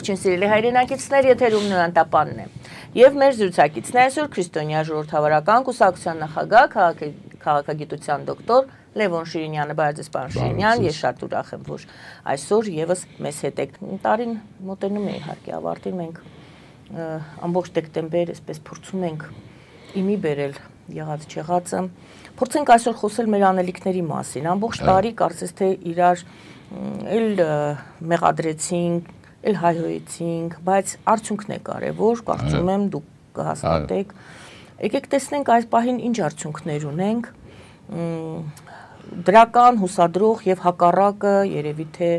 Ողջույն սիրելի հայրենակիցներ, եթերում Նոյան Տապանն է։ Եվ մեր զրուցակիցն է այսօր Քրիստոնյա ժողովրդավարական կուսակցության նախագահ, քաղաքագիտության դոկտոր Լևոն Շիրինյանը, Բարեձեզ պարոն Շիրինյան, ես շատ ուրախ եմ, որ այսօր եւս մեզ հետ եք։ Տարին մոտենում է իհարկե ավարտին, մենք ամբողջ դեկտեմբեր այսպես փորձում ենք իմի բերել եղած չեղածը։ Փորձենք այսօր խոսել մեր անելիքների մասին։ Ամբողջ տարի կարծես թե իրար էլ մեղադրեցինք, էլ հայհոյեցինք, բայց արդյունքն է կարևոր, կարծում եմ դուք կհաստատեք։ Եկեք տեսնենք այս պահին ինչ արդյունքներ ունենք, դրական, հուսադրող եւ հակառակը երևի թե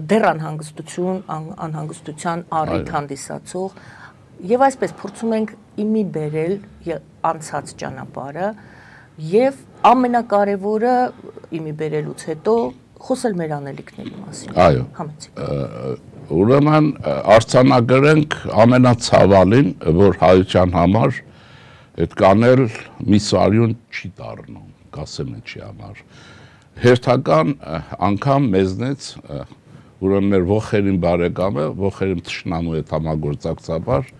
դեռ անհանգստության առիթ հանդիսացող եւ այսպես փորձում ենք իմի բերել անցած ճանապարհը եւ ամենակարևորը իմի բերելուց հետո խոսել մեր անելիքների մասին։ Այո։ Համեցեք։ Ուրեմն արձանագրենք ամենացավալին, որ հայության համար այդ կանել մի սարյուն չի դառնում, կասեմ ինչի համար։ Հերթական անգամ մեզնից ուրեմն մեր ողերին բարեկամը, ողերին թշնամու հետ համագործակցաբար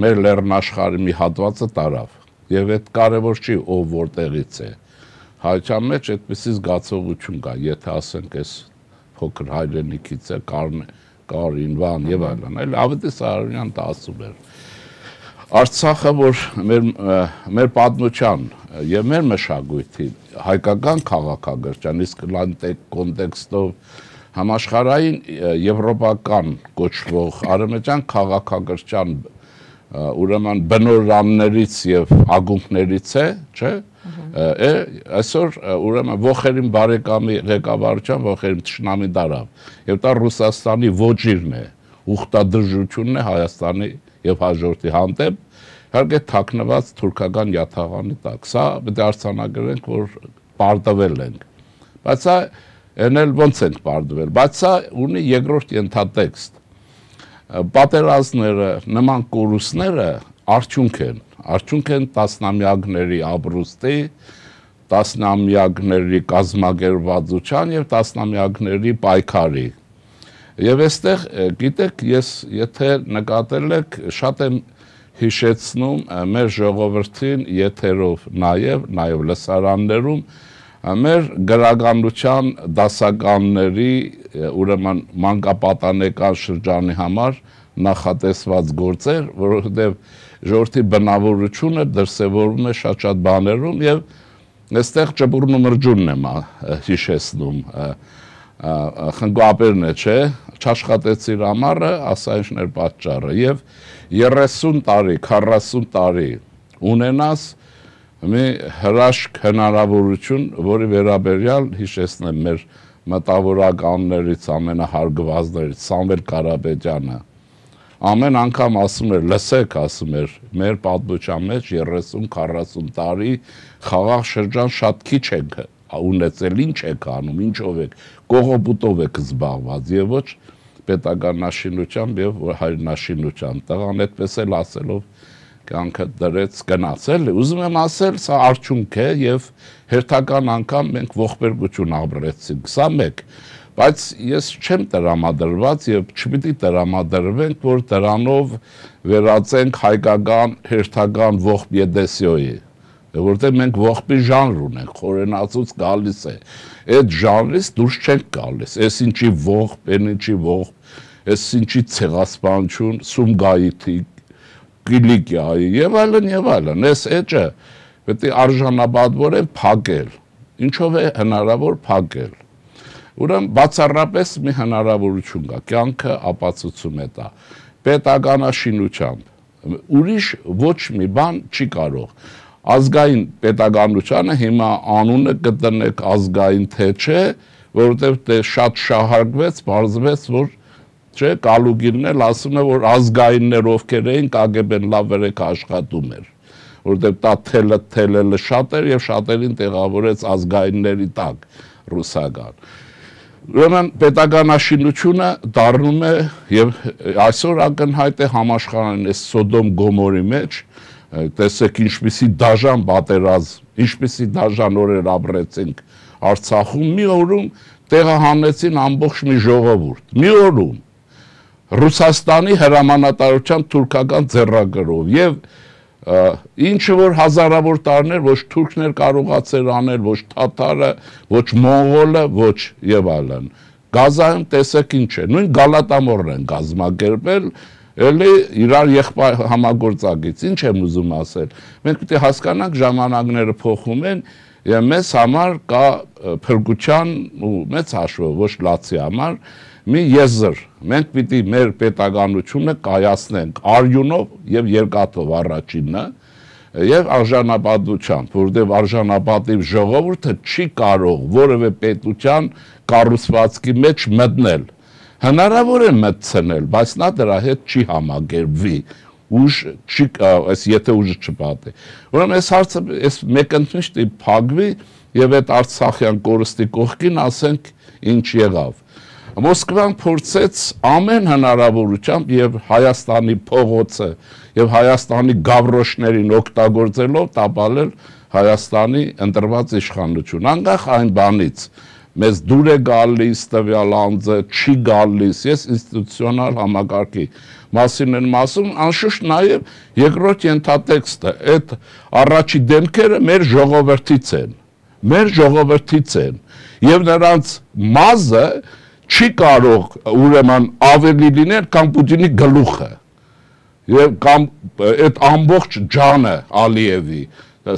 մեր լեռնաշխարհի մի հատվածը տարավ։ Եվ այդ կարևոր չի ով որտեղից է։ Հայության մեջ այդպիսի զգացողություն կա, եթե ասենք այս փոքր հայրենիքից է, Կարին, Վան եւ այլն, այլ Ավետիս Սարոյանն ասում էր։ Արցախը, որ մեր պատմության եւ մեր մշակույթի հայկական քաղաքագրության, իսկ կոնտեքստով համաշխարհային եվրոպական կոչվող արևմտյան քաղաքագրության ուրեմն բնօրաններից եւ ագունքներից է, չէ՞։ Այսօր ուրեմն ողերին բարեկամի ղեկավարության ողերին թշնամի դարավ եւ դա Ռուսաստանի ոճիրն է, ուխտադրժությունն է Հայաստանի եւ հաջորդի հանդեպ, իհարկե թաքնված թուրքական յաթաղանի տակ։ Սա պետք է արձանագրենք, որ պարտվել ենք։ Բայց սա այն էլ ոնց ենք պարտվել, բայց սա ունի երկրորդ ենթատեքստ։ Պատերազմները, նման կորուստները արդյունք են տասնամյակների ապրուստի, տասնամյակների կազմակերպվածության եւ տասնամյակների պայքարի։ Եվ այստեղ, գիտեք, ես եթե նկատել եք, շատ եմ հիշեցնում մեր ժողովրդին եթերով նաեւ լսարաններում մեր գրականության դասականների ուրեմն մանկապատանեկան շրջանի համար նախատեսված գործեր, որովհետև ժողովրդի բնավորությունը դրսևորվում է շատ բաներում եւ այստեղ ճպուրն ու մրջունն եմ հիշեցնում խնկապերն է, չէ, չաշխատեցիր ամառը, ասա ինչն էր պատճառը եւ 30 տարի, 40 տարի ունենաս մի հրաշք հնարավորություն, որի վերաբերյալ հիշեցնեմ մեր մտավորականներից ամենահարգվածներից Սամվել Կարապետյանը ամեն անգամ ասում էր, լսեք, ասում էր, մեր պատմության մեջ 30-40 տարի խաղաղ շրջան շատ քիչ եք ունեցել, ինչ եք անում, ինչով եք, կողոպուտով եք զբաղված եւ ոչ պետականաշինությամբ եւ հայրենաշինությամբ։ Տղան այդպես էլ ասելով կյանքը դրեց գնացել, ուզում եմ ասել, սա արդյունք է եւ հերթական անգամ մենք ողբերգություն ապրեցինք, սա մեկ, բայց ես չեմ տրամադրված եւ չպիտի տրամադրվենք, որ դրանով վերածենք հայկական հերթական ողբ Եդեսիոյի, որտեղ մենք ողբի ժանր ունենք, խորենացուց գալիս է, այդ ժանրից դուրս չենք գալիս, այս ինչի ողբ, այն ինչի ողբ, այս ինչի ցեղասպանություն, Սումգայիթի Կիլիկիայի եւ այլն, այս էջը պետք է արժանապատվորեն փակել։ Ինչով է հնարավոր փակել։ Ուրեմն բացառապես մի հնարավորություն կա, կյանքը ապացուցում է դա։ Պետականաշինությամբ ուրիշ ոչ մի բան չի կարող։ Ազգային պետականությունը հիմա անունը գտնեք ազգային թե չէ, որովհետեւ դե շատ շահարկվեց, բարձվեց, որ չէ, Կալուգինն էլ ասում է, որ ազգայիններ ովքեր էին ԿԳԲ-ն լավ վերեք աշխատում էր, որովհետև դա թելը շատ էր եւ շատերին տեղավորեց ազգայինների տակ ռուսական։ Ուրեմն պետականաշինությունը դառնում է եւ այսօր ակնհայտ է համաշխարհային այս Սոդոմ Գոմորի մեջ, տեսեք ինչպիսի դաժան պատերազմ, ինչպիսի դաժան օրեր ապրեցինք Արցախում, մի օրում տեղահանեցին ամբողջ մի ժողովուրդ, մի օրում Ռուսաստանի հրամանատարության թուրքական ձեռագրով եւ ինչը որ հազարավոր տարիներ ոչ թուրքներ կարողացել անել, ոչ թաթարը, ոչ մոնղոլը, ոչ եւ այլն։ Գազայում տեսեք ինչ է, նույն Գալատամորն են կազմակերպել, էլի իրար եղբայր համագործակից, ինչ եմ ուզում ասել։ Մենք պետք է հասկանանք ժամանակները փոխում են եւ մեզ համար կա փրկության ու մեծ հաշվով ոչ լացի համար մի եզր։ Մենք պիտի մեր պետականությունը կայացնենք արյունով եւ երկաթով առաջինը եւ արժանապատվությամբ, որովհետեւ արժանապատիվ ժողովուրդը չի կարող որևէ պետության կառուցվածքի մեջ մտնել։ Հնարավոր է մտցնել, բայց նա դրա հետ չի համագերբվի։ Ուժ չի, եթե ուժը չպատի։ Ուրեմն այս հարցը այս մեկընթաց չի փակվի եւ այդ Արցախյան կորստի կողքին ասենք ինչ եղավ։ Մոսկվան փորձեց ամեն հնարավորությամբ եւ Հայաստանի փողոցը եւ Հայաստանի գավրոշներին օգտագործելով տապալել Հայաստանի ընտրված իշխանություն։ Անկախ այն բանից մեզ դուր է գալիս տվյալ անձը, չի գալիս, ես ինստիտուցիոնալ համակարգի մասին եմ ասում, անշուշտ նաեւ երկրորդ ենթատեքստը, այդ առաջի դեմքերը մեր ժողովրդից են, եւ նրանց մազը չի կարող ուրեմն ավելի լինել քան Պուտինի գլուխը եւ կամ այդ ամբողջ ջանը Ալիևի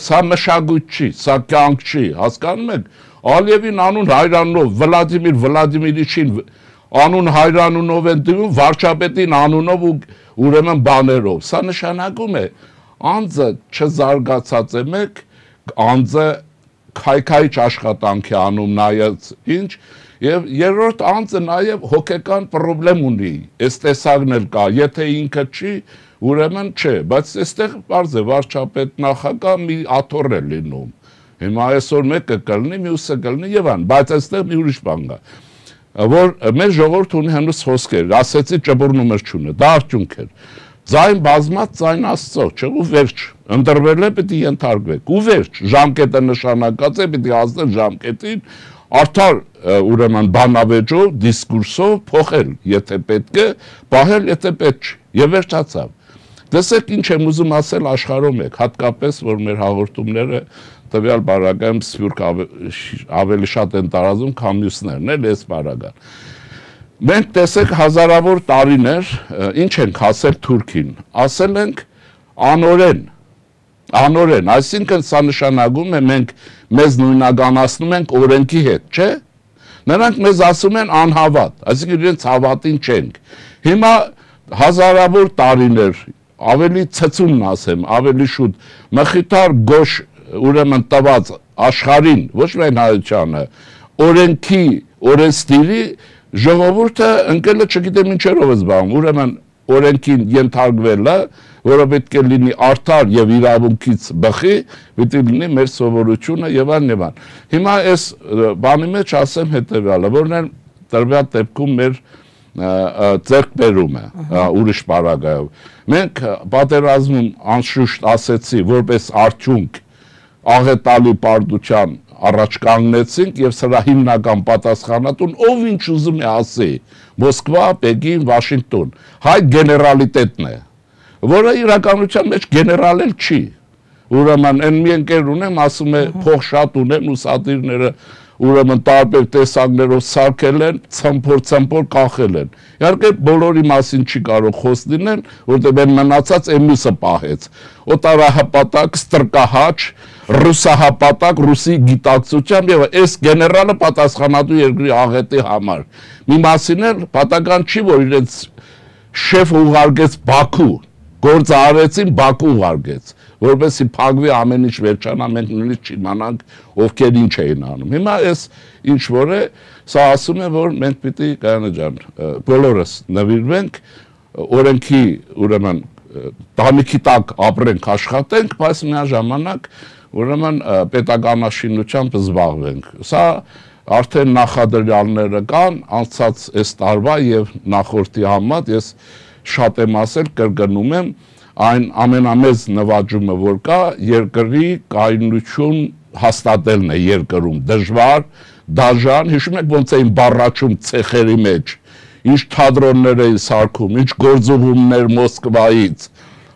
սա մշակույթ չի, սա կյանք չի, հասկանում եք Ալիևին անուն հայրանով Վլադիմիր Վլադիմիրիչին անուն հայրանունով են դնում վարչապետին անունով ու ուրեմն բաներով սա նշանակում է անձը չզարգացած է մեկ անձը քայքայիչ աշխատանքի անում նայած ինչ եւ երրորդ անձը նաեւ հոգեկան խնդրեմ ունի այս տեսակն էլ կա եթե ինքը չի ուրեմն չէ բայց այստեղ բարձ է վարչապետ նախագահ մի աթոռ է լինում հիմա այսօր մեկը կլինի մյուսը կլինի եւ այն բայց այստեղ մի ուրիշ բան կա որ մեր ժողովուրդը ունի հենց խոսքեր ասեցի ճբռնումներ չունի դա արդյունք էր ձայն բազմած ձայն աստծո չէ ու վերջ ընտրվել է պետք է ենթարկվեք ու վերջ ժամկետը նշանակած է պետք է հասնել ժամկետին արդար ուրեմն բանավեճով դիսկուրսով փոխել եթե պետք է պահել եթե պետք չի եւ վերջացավ տեսեք ինչ եմ ուզում ասել աշխարհում եք հատկապես որ մեր հաղորդումները տվյալ բարակայում սփյուռք ավելի շատ են տարածում քան մյուսներն էլ էս բարական մենք տեսեք հազարավոր տարիներ ինչ ենք ասել Թուրքին ասել ենք անօրեն այսինքն սա նշանակում է մենք մեզ նույնականացնում ենք օրենքի հետ չէ նրանք մեզ ասում են անհավատ այսինքն իրենց հավատին չենք հիմա հազարավոր տարիներ ավելի ցցումն ասեմ ավելի շուտ մխիթար գոշ ուրեմն տված աշխարհին ոչ միայն հայությանը օրենքի օրենսդիրի ժողովուրդը ընկելը չգիտեմ ինչերով է զբաղվում ուրեմն օրենքին ենթարկվելը որը պետք է լինի արդար եւ իրավունքից բխի պետք է լինի մեր սովորությունը եւ այլն հիմա այս բանի մեջ ասեմ հետեւյալը որն է տրվյալ դեպքում մեր ձեռքբերումը ուրիշ բարակայով մենք պատերազմում անշուշտ ասեցի որպես արդյունք աղետալի պարտության առաջ կանգնեցինք եւ սրա հիմնական պատասխանատուն ով ինչ ուզում է ասի Մոսկվա, Պեկին, Վաշինգտոն հայ գեներալիտետն է որը իրականության մեջ գեներալ էլ չի ուրեմն այն մի ընկեր ունեմ ասում է փող շատ ունեմ ու սատիրները ուրեմն տարբեր տեսակներով սարքել են ցմփոր կախել են իհարկե բոլորի մասին չի կարող խոս լինել որտեղ այն մնացած էմիսը պահեց օտարահպատակ ստրկահաչ ռուսահապատակ ռուսի գիտակցությամբ եւ այս գեներալը պատասխանատու երկրի աղետի համար մի մասին էլ պատական չի որ իրենց շեֆ ուղարկեց Բաքու գործը արեցին Բաքու ուղարկեց որովհետեւ փակվի ամեն ինչ վերջանա մենք նույնիսկ չիմանանք ովքեր ինչ էին անում հիմա այս ինչ որ է սա ասում է որ մենք պիտի կանա ջան բոլորս նվիրվենք օրենքի ուրեմն տանիքի տակ ապրենք աշխատենք բայց միաժամանակ ուրեմն պետականաշինությամբ զբաղվենք սա արդեն նախադրյալները կան անցած այս տարվա եւ նախորդի համեմատ ես շատ եմ ասել կրկնում եմ այն ամենամեծ նվաճումը որ կա երկրի կայունություն հաստատելն է երկրում դժվար դաժան հիշում եք ոնց էին բառաչում ցեխերի մեջ ինչ թատրոններ էին սարքում, ինչ գործողումներ Մոսկվայից,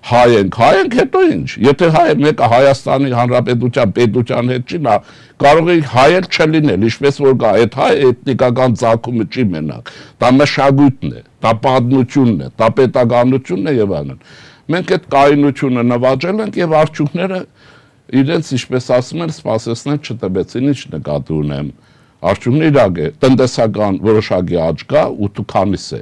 հայ ենք, հետո ինչ, եթե մեկը Հայաստանի Հանրապետության պետության հետ չի, նա կարող է հայ էլ չլինել, ինչպես որ կա, այդ հայ էթնիկական ծագումը չի մենակ, դա մշակույթն է, դա պատմությունն է, դա պետականությունն է եւ այլն։ Մենք այդ կայունությունը նվաճել ենք եւ արդյունքները իրենց, ինչպես ասում են, սպասեցնել չտվեցին, ինչ նկատի ունեմ։ Արդյունքն իրակ է, տնտեսական որոշակի աճ կա 8-քանիս է։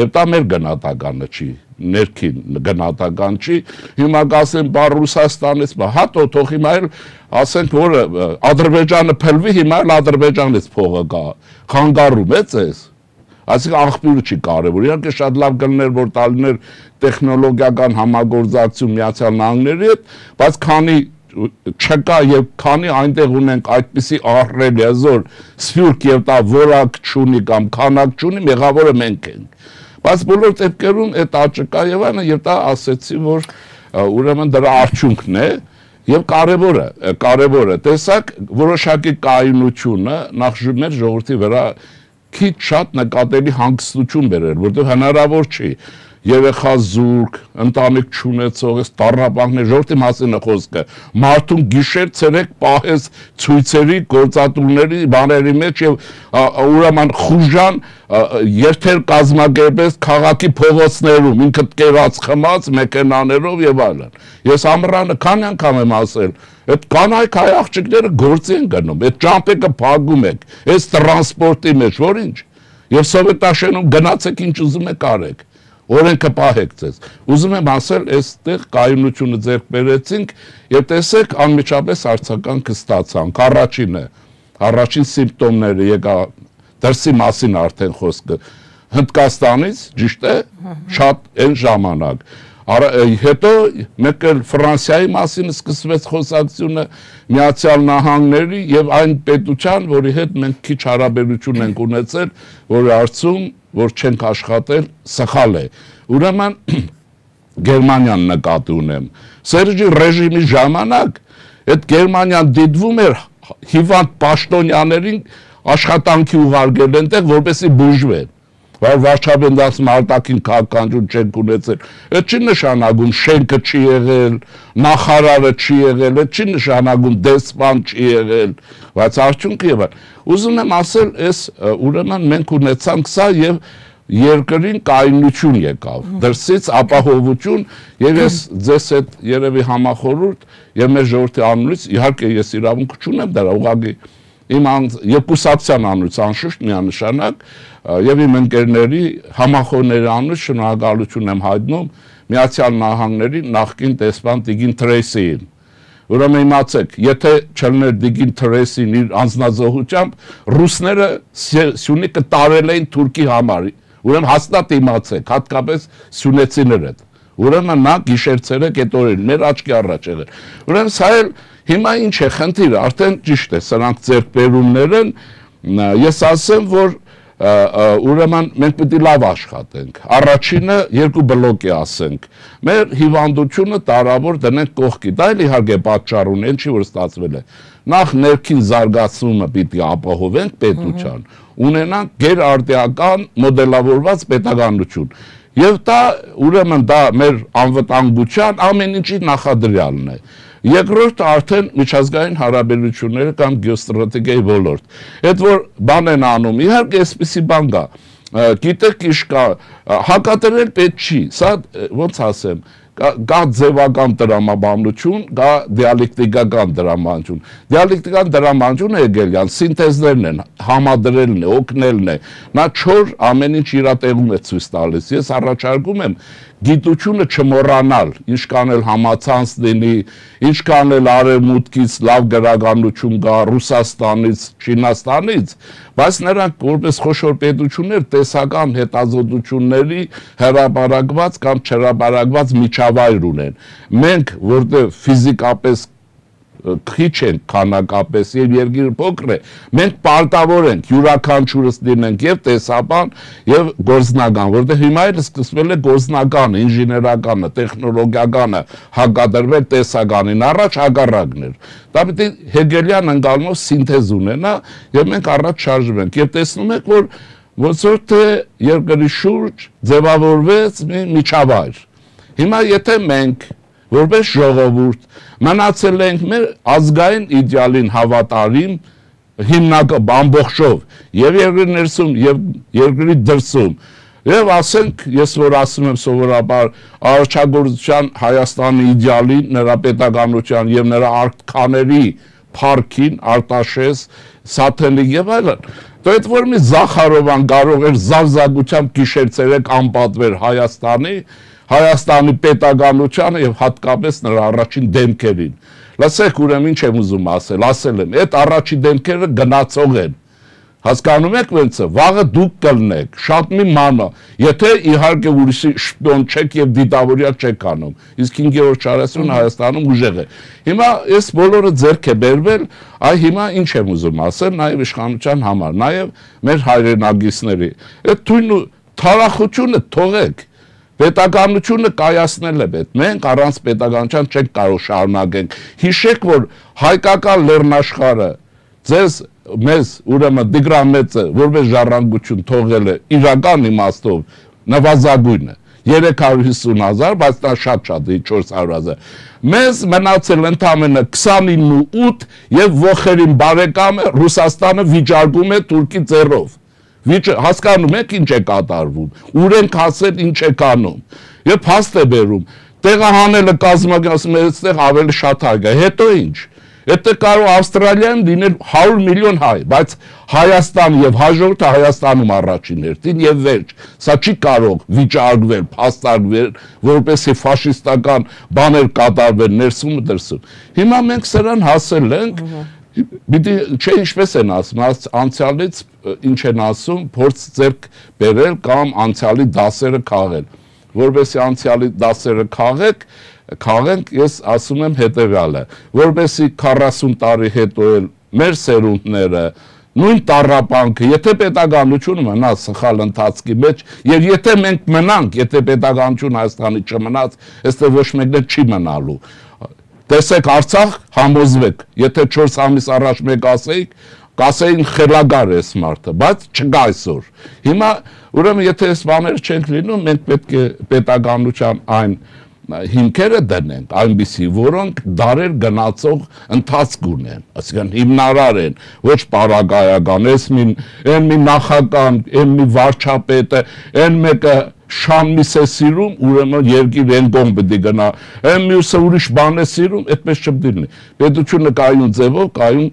Եվ դա մեր գնահատականը չի, ներքին գնահատական չի, հիմա կասեն բար Ռուսաստանից, հատո թող հիմա էլ ասենք, որ Ադրբեջանը փլվի, հիմա էլ Ադրբեջանից փողը կա, խանգարում է ձեզ, այսինքն աղբյուրը չի կարևոր, իհարկե շատ լավ կլիներ, որ տալիներ տեխնոլոգիական համագործակցություն Միացյալ Նահանգների հետ, բայց քանի չկա եւ քանի այնտեղ ունենք այդպիսի ահռելի հզոր սփյուռք եւ դա որակ չունի կամ քանակ չունի, մեղավորը մենք ենք։ Բայց բոլոր դեպքերում այդ աճը կա եւ այնը եւ դա ասեցի, որ ուրեմն դրա արդյունքն է եւ կարևորը տեսակ որոշակի կայունությունը նախ մեր ժողովրդի վրա քիչ շատ նկատելի հանգստություն բերել, որտեղ հնարավոր չի երեխա զուրկ, ընտանիք չունեցող, այս տառապանքներ, ժողովրդի մասին է խոսքը, մարդուն գիշեր ցերեկ պահես ցույցերի, գործատուների, բաների մեջ եւ ուրեմն խուժան երթեր կազմակերպես քաղաքի փողոցներում, ինքդ կերած խմած մեքենաներով եւ այլն։ Ես ամռանը քանի անգամ եմ ասել, այդ կանայք հայ աղջիկները գործի են գնում, այդ ճամփեկը փակում եք, այս տրանսպորտի մեջ, որ ինչ։ Եվ սովետաշենում գնացեք ինչ ուզում եք արեք։ Օրենքը պահեք ձեզ։ Ուզում եմ ասել, այստեղ կայունությունը ձեռք բերեցինք եւ տեսեք անմիջապես արձագանքը ստացանք։ Առաջին սիմպտոմները եկա դրսի մասին արդեն խոսքը Հնդկաստանից, ճիշտ է, շատ այն ժամանակ։ Հետո մեկ էլ Ֆրանսիայի մասին սկսվեց խոսակցությունը, Միացյալ Նահանգների եւ այն պետության, որի հետ մենք քիչ հարաբերություն ենք ունեցել, որի հարցում որ չենք աշխատել, սխալ է։ Ուրեմն Գերմանիան նկատի ունեմ։ Սերժի ռեժիմի ժամանակ այդ Գերմանիան դիտվում էր հիվանդ պաշտոնյաներին աշխատանքի ուղարկել այնտեղ, որպեսզի բուժվեն։ Բայց վարչապետն ասում արտաքին քաղաքականություն չենք ունեցել։ Այդ չի նշանակում շենքը չի եղել, նախարարը չի եղել, այդ չի նշանակում դեսպան չի եղել, բայց արդյունքը եւ ուզում եմ ասել, այս ուրեմն մենք ունեցանք սա եւ երկրին կայունություն եկավ, դրսից ապահովություն եւ ես ձեզ հետ երևի համախորհուրդ եւ մեր ժողովրդի անունից իհարկե ես իրավունք չունեմ դրա ուղղակի իմ երկուսակցության անունից անշուշտ միանշանակ եւ իմ ընկերների համախոհների անունից շնորհակալություն եմ հայտնում Միացյալ Նահանգների նախկին դեսպան Տիգին Թրեյսիին։ Ուրեմն իմացեք, եթե չլներ Տիգին Թրեյսին իր անձնազոհությամբ, ռուսները Սյունիքը տարել էին Թուրքի համար։ Ուրեմն հաստատ իմացեք, հատկապես սյունեցիները։ Ուրեմն նա գիշերցերը կետորել, մեր աչքի առաջ եղել։ Ուրեմն սա էլ հիմա ինչ է խնդիրը, արդեն ճիշտ է, սրանք ձեռքբերումներ են, ես ասեմ, որ ուրեմն մենք պետք է լավ աշխատենք։ Առաջինը երկու բլոկի ասենք։ Մեր հիվանդությունը տարավոր դնենք կողքի։ Դա էլ իհարկե պատճառ ունի, ինչի որ ստացվել է։ Նախ ներքին զարգացումը պիտի ապահովենք պետության, ունենանք գերարտիական մոդելավորված պետականություն։ Եվ դա ուրեմն դա մեր անվտանգության ամեն ինչի նախադրյալն է։ Երկրորդը արդեն միջազգային հարաբերությունները կամ գեոստրատեգիայի ոլորտ։ Այդ որ բան են անում, իհարկե այսպիսի բան կա։ Գիտեք ինչ կա, հակադրել պետք չի, սա ոնց ասեմ, կա ձևական դրամաբանություն, կա դիալեկտիկական դրամաբանություն։ Դիալեկտիկական դրամաբանությունը Հեգելյան սինթեզներն են, համադրելն է, օգնելն է։ Նա չոր ամեն ինչ իր տեղում է ցույց տալիս։ Ես առաջարկում եմ գիտությունը չմոռանալ, ինչքան էլ համացանց լինի, ինչքան էլ արևմուտքից լավ գրականություն կա, Ռուսաստանից, Չինաստանից, բայց նրանք որպես խոշոր պետություններ տեսական հետազոտությունների հրապարակված կամ չհրապարակված միջավայր ունեն։ Մենք, որտեղ ֆիզիկապես քիչ են քանակապես եւ երկիրը փոքր է, մենք պարտավոր ենք յուրաքանչյուրս լինենք եւ տեսաբան եւ գործնական, որտեղ հիմա էլ սկսվել է գործնականը, ինժեներականը, տեխնոլոգիականը հակադրվել տեսականին, առաջ հակառակն էր։ Դա պետք է Հեգելյան ընկալումով սինթեզ ունենա եւ մենք առաջ շարժվենք եւ տեսնում եք որ ոնց որ թե երկրի շուրջ ձևավորվեց մի միջավայր։ Հիմա եթե մենք որպես ժողովուրդ մնացել ենք մեր ազգային իդեալին հավատարիմ հիմնական ամբողջով եւ երկրի ներսում եւ երկրի դրսում եւ ասենք ես որ ասում եմ սովորաբար արարչագործության Հայաստանի իդեալին նրա պետականության եւ նրա արքաների փառքին Արտաշես Սաթենիկ եւ այլն դա այդ որ մի Զախարովան կարող էր զարզագությամբ գիշեր-ցերեկ անպատվեր Հայաստանի պետականությանը եւ հատկապես նրա առաջին դեմքերին լսեք ուրեմն ինչ եմ ուզում ասել եմ այդ առաջին դեմքերը գնացող են հասկանում եք ոնց է վաղը դուք կլնեք շատ մի մանա եթե իհարկե ուրիշի շպիոն չեք եւ դիտավորյալ չեք անում իսկ 5-րդ չարասյուն Հայաստանում ուժեղ է հիմա այս բոլորը ձեռք է բերվել այ հիմա ինչ եմ ուզում ասել նաեւ իշխանության համար նաեւ մեր հայրենագիստների այդ թույն ու թարախությունը թողեք պետականությունը կայացնել է պետք մենք առանց պետականության չենք կարող շարունակենք հիշեք որ հայկական լեռնաշխարհը ձեզ մեզ ուրեմն դիգրամեցը որպես ժառանգություն թողել է իրական իմաստով նվազագույնը 350,000 բայց դա շատ 400,000 մեզ մնացել ընդամենը 29 եւ ողերին բարեկամը Ռուսաստանը վիճարկում է Թուրքի ձեռով հասկանում եք ինչ է կատարվում ուր ենք հասել ինչ է կանում եւ փաստ է բերում տեղահանելը կազմակերպում է այստեղ ավելի շատ հայ գա հետո ինչ Եթե կարող Ավստրալիայում լինել 100 միլիոն հայ, բայց Հայաստան եւ հաջորդը Հայաստանում առաջին հերթին եւ վերջ։ Սա չի կարող վիճարկվել, փաստարկվել, որպեսզի ֆաշիստական բաներ կատարվեն ներսում ու դրսում։ Հիմա մենք սրան հասել ենք, պիտի չէ ինչպես են ասում, անցյալից ինչ են ասում, փորձ ձեռք բերել կամ անցյալի դասերը քաղել։ Որպեսզի անցյալի դասերը քաղենք, ես ասում եմ հետևյալը, որպեսզի 40 տարի հետո էլ մեր սերունդները նույն տառապանքը, եթե պետականությունը մնա սխալ ընթացքի մեջ, եւ եթե մենք մնանք, եթե պետականություն Հայաստանի չմնաց, այստեղ ոչ մեկն չի մնալու։ Տեսեք Արցախ, համոզվեք, եթե 4 ամիս առաջ մեկ կասեին խելագար է մարդը, բայց չկա այսօր։ Հիմա ուրեմն եթե այս բաները չենք լինում, մենք պետք է պետականության այն հիմքերը դնենք, այնպիսի, որոնք դարեր գնացող ընթացք ունեն, այսինքն հիմնարար են, ոչ պարագայական, այն մի նախագահ, այն մի վարչապետը, այն մեկը շանմիս է սիրում, ուրեմն երկիր են կողմ պետք է գնա, այն մյուսը ուրիշ բան է սիրում, այդպես չպետք է լինի։ Պետությունը կայուն ձևով, կայուն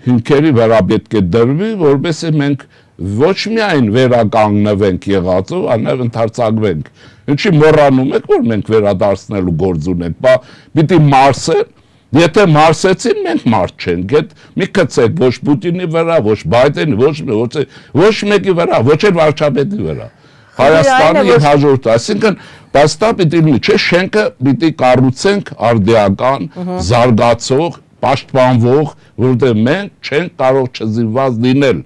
հիմքերի վրա պետք է դրվի, որովհետեւ մենք ոչ միայն վերականգնվենք եղածով, այլև ընդարձակվենք։ Ինչի մոռանում եք, որ մենք վերադարձնելու գործ ունենք, բա պիտի մարսեն, եթե մարսեցին, մենք մարդ չենք, այդ մի կցեք ոչ Պուտինի վրա, ոչ Բայդենի, ոչ մեկի վրա, ոչ էլ վարչապետի վրա։ Հայաստանը եւ հաջորդը, այսինքն բաստա պիտի լինի, չէ, շենքը պիտի կառուցենք արդիական, զարգացող, պաշտպանվող, որովհետեւ մենք չենք կարող չզինված լինել։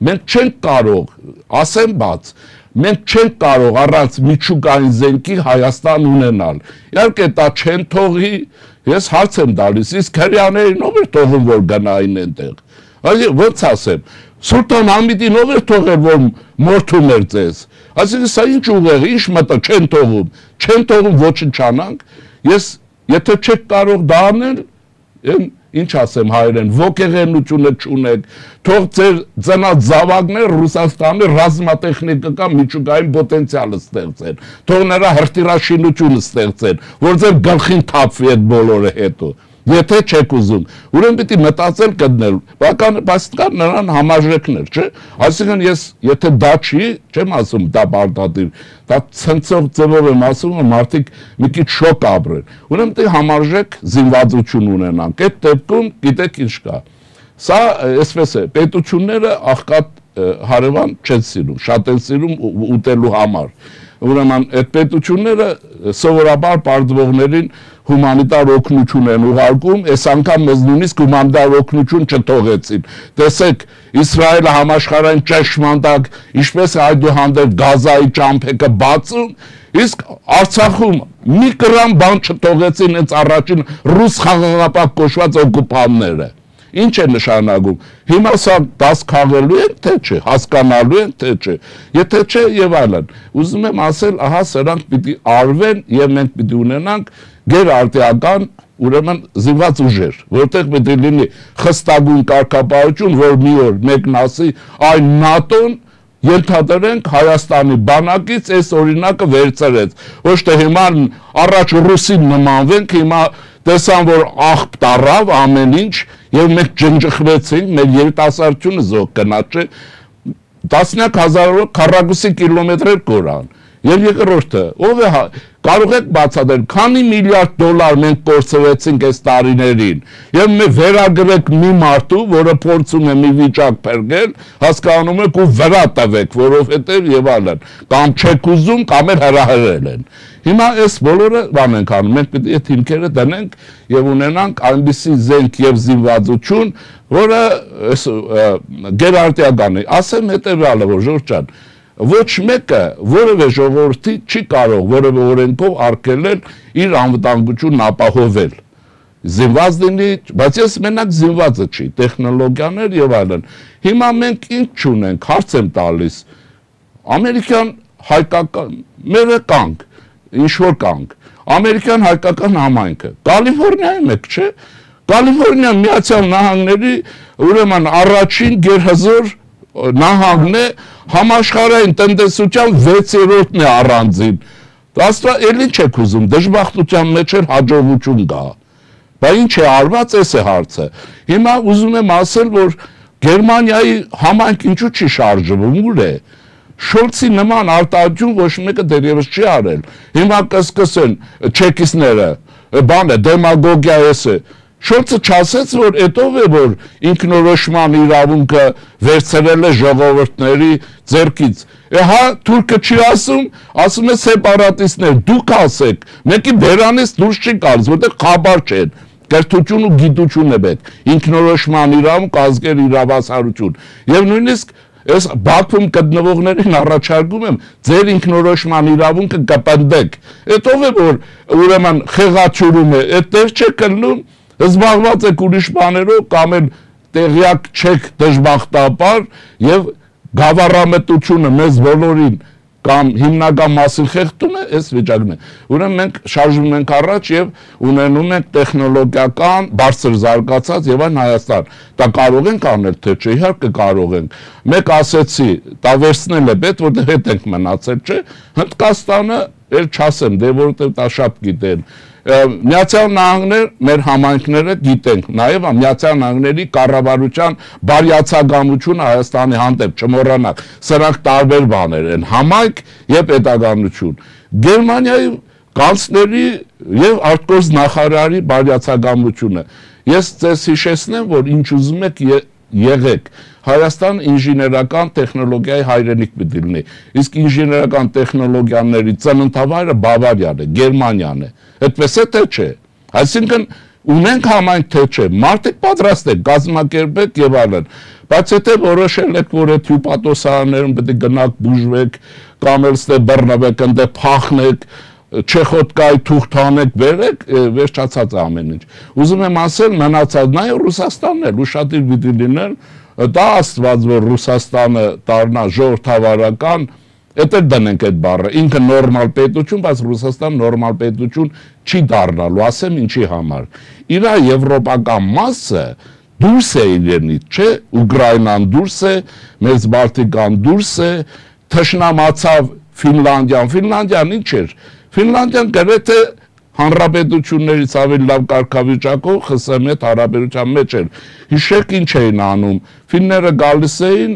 Մենք չենք կարող, ասեմ բաց, մենք չենք կարող առանց միջուկային զենքի Հայաստան ունենալ։ Իհարկե դա չեն թողի, ես հարց եմ տալիս, իսկ հրեաներին ով էր թողում որ գնային այնտեղ։ Այսինքն ոնց ասեմ, Սուլտան Համիդին ով էր թողել որ մորթում էր ձեզ։ Այսինքն սա ինչ ուղեղ, ինչ մտա չեն թողում ոչնչանանք։ Ես եթե չեք կարող դա անել, ինչ ասեմ հայերեն, ոգեղենությունը չունեք, թող ձեր ծնած զավակներ Ռուսաստանի ռազմատեխնիկական միջուկային պոտենցիալը ստեղծեն, թող նրա հրթիռաշինությունը ստեղծեն, որ ձեր գլխին թափվի այդ բոլորը հետո, եթե չեք ուզում, ուրեմն պիտի մտածել գտնել, բայց կա նրան համաժեքներ, չէ, այսինքն ես, եթե դա չի, չեմ ասում դա բարդատիր, դա ցնցող ձևով եմ ասում, որ մարդիկ մի քիչ շոկ ապրեն, ուրեմն պիտի համաժեք զինվածություն ունենանք, այդ դեպքում գիտեք ինչ կա, սա այսպես է, պետությունները աղքատ հարևան չեն սիրում, շատ են սիրում ուտելու համար, ուրեմն այդ պետությունները սովորաբար պարտվողներին հումանիտար օգնություն են ուղարկում, այս անգամ մեզ նույնիսկ հումանիտար օգնություն չթողեցին։ Տեսեք, Իսրայելը համաշխարհային ճաշմանտակ, ինչպես այդուհանդերձ Գազայի ճամփեքը բացում, իսկ Արցախում մի գրամ բան չթողեցին հենց առաջին ռուս խաղաղապահ կոչված օկուպանտները։ Ինչ է նշանակում։ Հիմա սա դաս քաղելու են, թե չէ, հասկանալու են, թե չէ։ Եթե չէ եւ այլն։ Ուզում եմ ասել, ահա սրանք պիտի արվեն եւ մենք պիտի ունենանք գերարտիական ուրեմն զինված ուժեր, որտեղ պետք է լինի խստագույն կարգապահություն, որ մի օր մեկն ասի, այ ՆԱՏՕ-ն ենթադրենք Հայաստանի բանակից այս օրինակը վերցրեց։ Ոչ թե հիմա առաջ ռուսին նմանվենք, հիմա տեսան, որ աղբ տարավ ամեն ինչ եւ մենք ջնջխվեցինք, մեր երիտասարդությունը զոհ գնաց, չէ, տասնյակ հազարավոր քառակուսի կիլոմետրեր կորան։ Եվ երկրորդը, ով է կարող եք բացատրել, քանի միլիարդ դոլար մենք կորցրեցինք այս տարիներին, եւ մենք վերագրեք մի մարդու, որը փորձում է մի վիճակ փրկել, հասկանում եք ու վրա տվեք, որովհետեւ եւ այլն, կամ չեք ուզում, կամ էլ հրահրել են։ Հիմա այս բոլորը բան ենք անում, մենք պետք է այդ հիմքերը դնենք եւ ունենանք այնպիսի զենք եւ զինվածություն, որը գերարտիական է։ Ասեմ հետեւյալը, որ Ժորժ ջան, ոչ մեկը որևէ ժողովրդի չի կարող որևէ օրենքով արգելել իր անվտանգությունն ապահովել։ Զինված լինի, բայց ես մենակ զինվածը չի, տեխնոլոգիաներ եւ այլն։ Հիմա մենք ինչ չունենք, հարց եմ տալիս։ Ամերիկյան հայկական մերը կանք, ինչ որ կանք։ Ամերիկյան հայկական համայնքը, Կալիֆոռնիայում եք, չէ՞։ Կալիֆոռնիա Միացյալ Նահանգների ուրեմն առաջին գերհզոր նահանգն է, համաշխարհային տնտեսության 6-րդն է առանձին։ Աստղա էլի չեք ուզում, դժբախտության մեջ էլ հաջողություն գա։ Բայց ինչ է արված, էս է հարցը։ Հիմա ուզում եմ ասել, որ Գերմանիայի համայնք ինչու չի շարժվում, ուր է։ Շոլցի նման արտահայտություն ոչ մեկը դեռևս չի արել։ Հիմա կսկսեն չեկիստները, բան է, դեմագոգիա էս է։ Շոլցը չասեց, որ էտով է, որ ինքնորոշման իրավունքը վերցրել է ժողովուրդների ձեռքից։ Հա, թուրքը չի ասում է սեպարատիստներ, դուք ասեք, մեկի բերանից դուրս չի գալիս, որտեղ խաբար չեն, կրթություն ու գիտություն է պետք, ինքնորոշման իրավունք, ազգեր իրավասարություն։ Եվ նույնիսկ ես Բաքվում գտնվողներին առաջարկում եմ, ձեր ինքնորոշման իրավունքը կպնդեք։ Էտով է, որ ուրեմն խեղաթյուրում է, այդ տեղ չեք կլնում, զբաղված եք ուրիշ բաներով կամ էլ տեղյակ չեք դժբախտաբար եւ գավառամտությունը մեզ բոլորին կամ հիմնական մասին խեղդում է, այս վիճակն է։ Ուրեմն մենք շարժվում ենք առաջ եւ ունենում ենք տեխնոլոգիական բարձր զարգացած եւ այն Հայաստան։ Դա կարող ենք անել, թե չէ, իհարկե կարող ենք։ Մեկ ասեցի, դա վերցնել է պետք, որտեղ հետ ենք մնացել, չէ։ Հնդկաստանը էլ չասեմ, դե որովհետեւ դա շատ գիտեն։ Միացյալ Նահանգներ մեր համայնքները գիտենք, նաև Միացյալ Նահանգների կառավարության բարյացակամությունը Հայաստանի հանդեպ չմոռանանք, սրանք տարբեր բաներ են, համայնք եւ պետականություն։ Գերմանիայի կանցլերի եւ արտգործ նախարարի բարյացակամությունը։ Ես ձեզ հիշեցնեմ, որ ինչ ուզում եք եղեք, Հայաստան ինժեներական տեխնոլոգիայի հայրենիք պիտի լինի, իսկ ինժեներական տեխնոլոգիաների ծննդավայրը Բավարիան է, Գերմանիան է, այդպես է թե չէ, այսինքն ունենք համայնք թե չէ, մարդիկ պատրաստ եք, կազմակերպեք եւ այլն, բայց եթե որոշել եք, որ այդ հյուպատոսարաններում պետք է գնաք բուժվեք, կամ էլ ստե բռնվեք, ընդ փախնեք, Չեխոտկայի թուղթանեք բերեք, վերջացած ամեն ինչ։ Ուզում եմ ասել, մնացած նաև Ռուսաստանն էլ ուշադիր պիտի լինել, դա աստված, որ Ռուսաստանը դառնա ժողովրդավարական, էդ էլ դնենք այդ բառը, ինքը նորմալ պետություն, բայց Ռուսաստան նորմալ պետություն չի դառնալու, ասեմ ինչի համար։ Իրա եվրոպական մասը դուրս է իրենից, չէ, Ուկրաինան դուրս է, մեծ Բալտիկան դուրս է, թշնամացավ Ֆինլանդիան ինչ էր։ Ֆինլանդիան գրեթե հանրապետություններից ավելի լավ կարգավիճակով ԽՍՀՄ հետ հարաբերության մեջ էր։ Հիշեք ինչ էին անում։ Ֆինները գալիս էին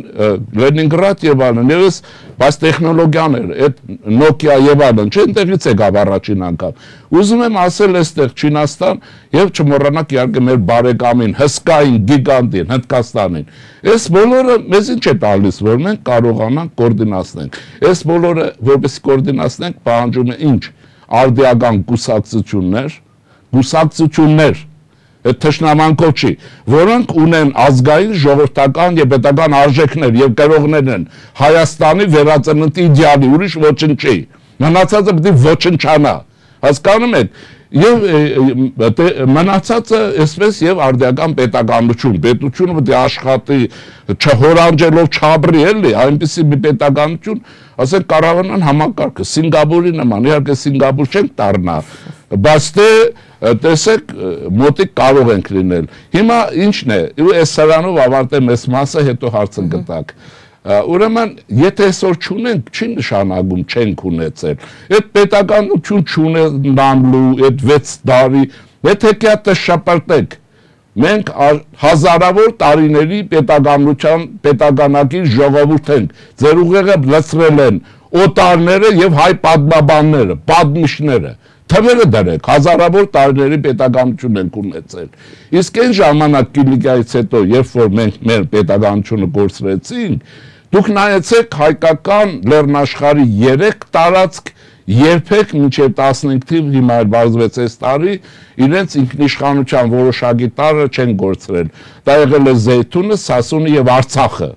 Լենինգրադ եւ այլն, եւս բայց տեխնոլոգիաներ, այդ Nokia եւ այլն, չէ՞ այնտեղից եկավ առաջին անգամ։ Ուզում եմ ասել այստեղ Չինաստան եւ չմոռանաք իհարկե մեր բարեկամին, հսկային գիգանտին Հնդկաստանին։ Այս բոլորը մեզ ինչ է տալիս, որ մենք կարողանանք կոորդինացնենք։ Այս բոլորը որպես կոորդինացնենք պահանջում է ինչ։ Արդիական գուսակցություններ, այդ թշնամանքով չի, որոնք ունեն ազգային, ժողովրդական եւ պետական արժեքներ եւ կրողներ են Հայաստանի վերածննդի իդեալի, ուրիշ ոչինչ չի։ Մնացածը պետք է ոչնչանա։ Հասկանում եք, Եվ մնացածը այսպես եւ արդիական պետականություն, պետությունը պետք է աշխատի չհորանջելով չաբրի էլի, այնպեսի մի պետականություն, ասենք կառավարման համակարգը Սինգապուրի նման, իհարկե Սինգապուր չենք դառնա, բայց տեսեք մոտիկ կարող ենք լինել։ Հիմա ինչն է, այս սրանով ավարտեմ այս մասը, հետո հարցը գտակ։ Ուրեմն, եթե այսօր չունենք, չի նշանակում չենք ունեցել։ Այդ պետականություն չունենալու, այդ 6 տարի, եթե կյատը շապրտեք, մենք հազարավոր տարիների պետականակիր ժողովուրդ ենք, ձեր ուղեղը լցրել են օտարները և հայ պատմաբանները, պատմիչները, թվերը դրեք, հազարավոր տարիների պետականություն ենք ունեցել։ Իսկ այն ժամանակ Կիլիկիայից հետո, երբ որ մենք մեր պետականությունը կորցրեցինք, դուք նայեցեք հայկական լեռնաշխարհի 3 տարածք երբեք մինչև 15 թիվ հիմա բարձվեց այս տարի իրենց ինքնիշխանության որոշակի տարը չեն գործրել։ Դա եղել է Զեյթունը, Սասունը եւ Արցախը։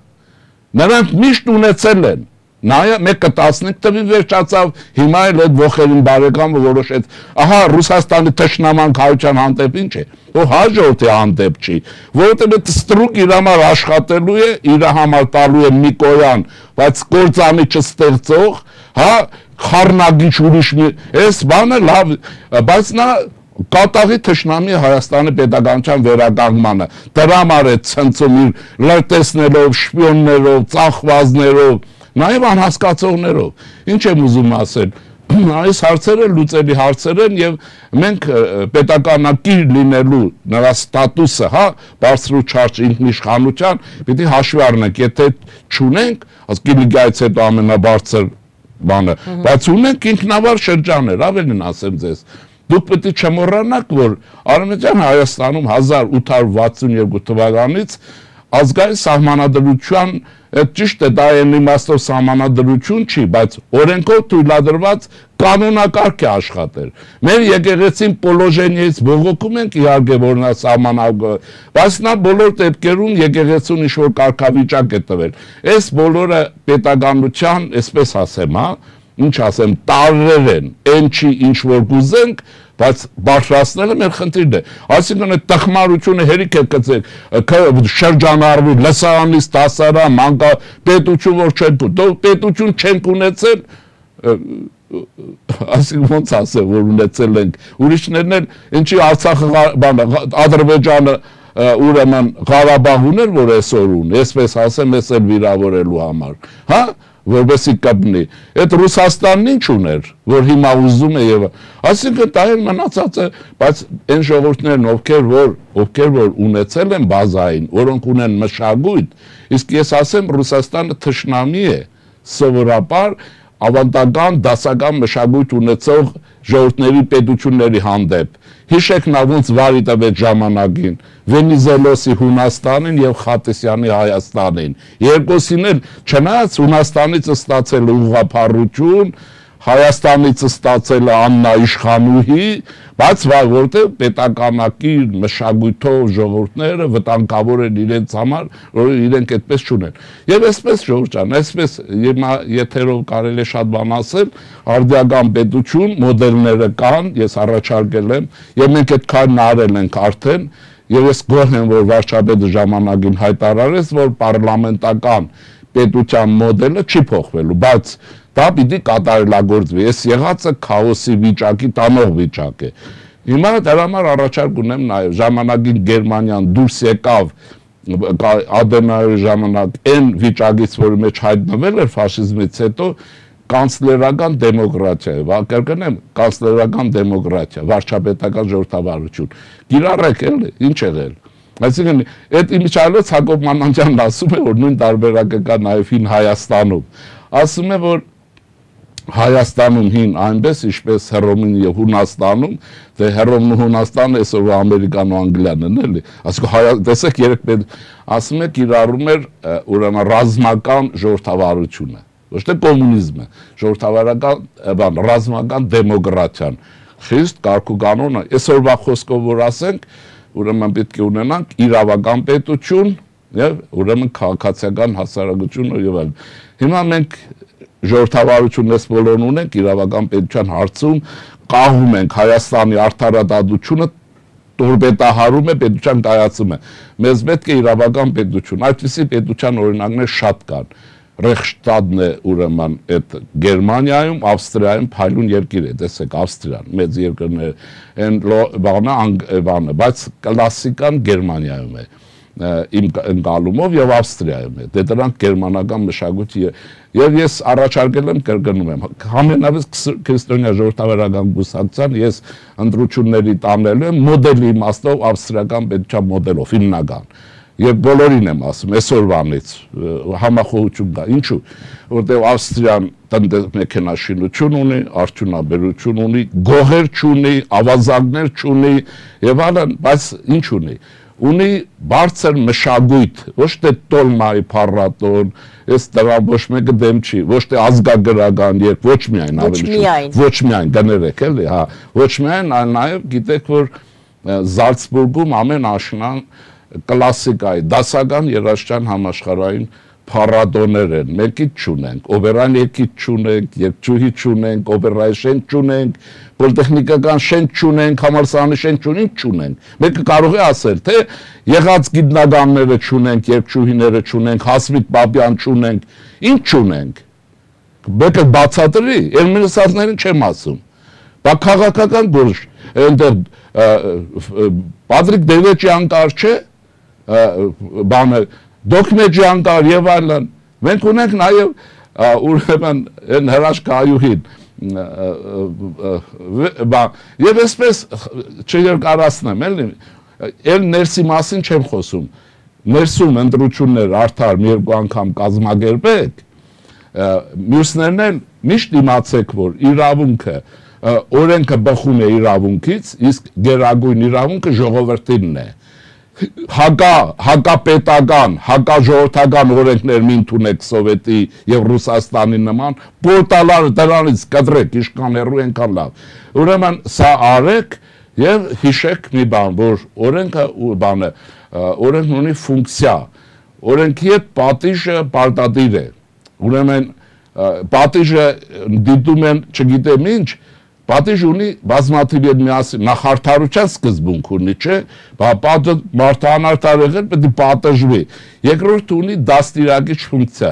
Նրանք միշտ ունեցել են։ Նայա մեկը 15 թվի վերջացավ, հիմա էլ այդ ողերին բարեկամը որոշեց, ահա Ռուսաստանի թշնամանք հայության հանդեպ ինչ է, որ հաջորդի հանդեպ չի, որովհետև այդ ստրուկ իր համար աշխատելու է, իր համար տալու է Միկոյան, բայց կործանի չստեղծող, հա, խառնագիչ ուրիշ մի, այս բանը լավ, բայց նա կատաղի թշնամի Հայաստանի պետականության վերականգնմանը, դրա համար է ցնցում իր լրտեսներով, շպիոններով, ծախվածներով, նաև անհասկացողներով, ինչ եմ ուզում ասել, այս հարցերը լուծելի հարցեր են և մենք պետականակիր լինելու նրա ստատուսը, հա, բարձր ու չարժ ինքնիշխանության, պիտի հաշվի առնենք, եթե չունենք, Կիլիկիայից հետո ամենաբարձր բանը, բայց ունենք ինքնավար շրջաններ, ավելին ասեմ ձեզ, դուք պետք է չմոռանաք, որ Արևմտյան Հայաստանում 1862 թվականից ազգային սահմանադրության, ճիշտ է, դա այն իմաստով սահմանադրություն չի, բայց օրենքով թույլատրված կանոնակարգ է աշխատել։ Մեր եկեղեցին պոլոժենիից բողոքում ենք իհարկե, որ նա սահմանագ, բայց նա բոլոր դեպքերում եկեղեցուն ինչ-որ կարգավիճակ է տվել։ Այս բոլորը պետականության, այսպես ասեմ, հա, ինչ ասեմ, տարրեր են, այն չի ինչ-որ կուզենք, բայց բարձրացնելը մեր խնդիրն է։ Այսինքն այդ տխմարությունը հերիք է գցեք, շրջանառվի, լսարանից դասարան, մանկա պետություն որ չեն պետություն չենք ունեցել, այսինքն ոնց ասեմ, որ ունեցել ենք, ուրիշներն էլ ինչի Արցախը, Ադրբեջանը ուրեմն Ղարաբաղ ուներ, որ այսօր ունի, այսպես ասեմ, ես էլ վիրավորելու համար, հա, որպեսի կպնի, այդ Ռուսաստանն ինչ ուներ, որ հիմա ուզում է և, այսինքն դա են մնացած է, բայց այն ժողովուրդներն, ովքեր որ ունեցել են բազային, որոնք ունեն մշակույթ, իսկ ես ասեմ Ռուսաստանը թշնամի է, սովորաբար ավանդական դասական մշակույթ ունեցող ժողովուրդների պետությունների հանդեպ, հիշեք նա ոնց վարի տվեց ժամանակին, Վենիզելոսի Հունաստանին և Խատիսյանի Հայաստանին, երկուսին էլ չնայած Հունաստանից ստացել ուղղափառություն, Հայաստանից ստացել աննաիշխանուհի, բայց որտեղ պետականակիր մշակույթով ժողովուրդները վտանգավոր են իրենց համար, որ իրենք այդպես չունեն։ Եվ այսպես ժողովուրդ ջան, այսպես եթերով կարելի է շատ բան ասել, արդիական պետություն, մոդելները կան, ես առաջարկել եմ, եւ մենք այդ քայլն արել ենք արդեն, եւ ես գոհ եմ, որ վարչապետը ժամանակին հայտարարեց, որ պարլամենտական պետության մոդելը չի փոխվելու, բայց դա պիտի կատարելագործվի, ես եղածը քաոսի վիճակի տանող վիճակ է։ Հիմա դրա համար առաջարկ ունեմ նաև, ժամանակին Գերմանիան դուրս եկավ Ադենաուերի ժամանակ այն վիճակից, որի մեջ հայտնվել էր ֆաշիզմից հետո, կանցլերական դեմոկրատիա է, կրկնեմ, կանցլերական դեմոկրատիա, վարչապետական ժողովրդավարություն։ Կիրառեք էլի, ինչ եղել։ Այսինքն, այդ իմիջիայլոց Հակոբ Մանանջյանն ասում է, որ նույն տարբերակը կա նաև հին Հայաստանում։ Ասում է, որ Հայաստանում հին այնպես, ինչպես Հռոմին և Հունաստանում, թե Հռոմն ու Հունաստանը այսօր Ամերիկան ու Անգլիան են, էլի։ Այսինքն, տեսեք, ասում է, կիրառում էր ուրեմն ռազմական ժողովրդավարությունը, ոչ թե կոմունիզմը, ժողովրդավարական, ռազմական դեմոկրատիան, խիստ կարգուկանոնը, այսօրվա խոսքով որ ասենք, ուրեմն պետք է ունենանք իրավական պետություն և ուրեմն քաղաքացիական հասարակություն և այլն։ Հիմա մենք ժողովրդավարություն ես բոլորն ունենք իրավական պետության հարցում, կահում ենք Հայաստանի արդարադատությունը, տորպետահարում է, պետության կայացում է։ Մեզ պետք է իրավական պետություն, այդպիսի պետության օրինակներ շատ կան։ Ռեխշտադն է ուրեմն այդ Գերմանիայում, Ավստրիայում փայլուն երկիր է, տեսեք Ավստրիան, մեծ երկրներ, այն բանը, բայց կլասիկան Գերմանիայում է, իմ ընկալումով եւ Ավստրիայում է։ Դե դրանք գերմանական մշակույթի եւ ես առաջարկել եմ կրկնում եմ համենայնիվ քրիստոնյա ժողովրդավարական կուսակցության ես ընտրությունների տանելու եմ մոդելի իմաստով ավստրիական պետության մոդելով հիմնական եւ բոլորին եմ ասում այսօրվանից համախոհություն կա ինչու որտեղ Ավստրիան մեքենաշինություն ունի արդյունաբերություն ունի գոհեր չունի ավազակներ չունի եւ այլն բայց ինչ ունի բարձր մշակույթ, ոչ թե տոլմայի փառատոն, այս դրան ոչ մեկը դեմ չի, ոչ թե ազգագրական երբ, ոչ միայն ոչ միայն գներեք էլի, հա, ոչ միայն, այլ նաև գիտեք, որ Զալցբուրգում ամեն աշնան կլասիկայի, դասական երաժշտական համաշխարհային փառատոներ են, մեկից չունենք, օպերան երկից չունենք, երգչուհի չունենք, օպերայի շենք չունենք, պոլիտեխնիկական շենք չունենք, համալսարանի շենք չունենք, մեկը կարող է ասել, թե եղած գիտնականները չունենք, երգչուհիները չունենք, Հասմիկ Բաբյան չունենք, ինչ չունենք, մեկը բացատրի, էլ մինուսածներին չեմ ասում, բա քաղաքական գործ, այնտեղ Պատրիկ Դևեճյան կար չէ, բանը Դոկմեջյան կար եւ այլն։ Մենք ունենք նաեւ ուրեմն այն հրաշքայուհին եւ այսպես չերկարացնեմ, էլի, էլ ներսի մասին չեմ խոսում։ Ներսում ընտրություններ արդար մի երկու անգամ կազմակերպեք, մյուսներն էլ միշտ իմացեք, որ իրավունքը օրենքը բխում է իրավունքից, իսկ գերագույն իրավունքը ժողովրդինն է։ Հակապետական, հակաժողովրդական օրենքներ մի ընդունեք Սովետի եւ Ռուսաստանի նման, պորտալարը դրանից կտրեք, իշքան հեռու ենքան լավ։ Ուրեմն սա արեք եւ հիշեք մի բան, որ օրենքը բանը, օրենքն ունի ֆունկցիա, օրենքի հետ պատիժը պարտադիր է։ Ուրեմն պատիժը դիտում են, չգիտեմ ինչ, պատիժ ունի բազմաթիվ հետ միասին նախարդարության սկզբունք ունի, չէ, պատը մարդանարդար եղել պետք է պատժվի։ Երկրորդ ունի դաստիարակիչ ֆունկցիա։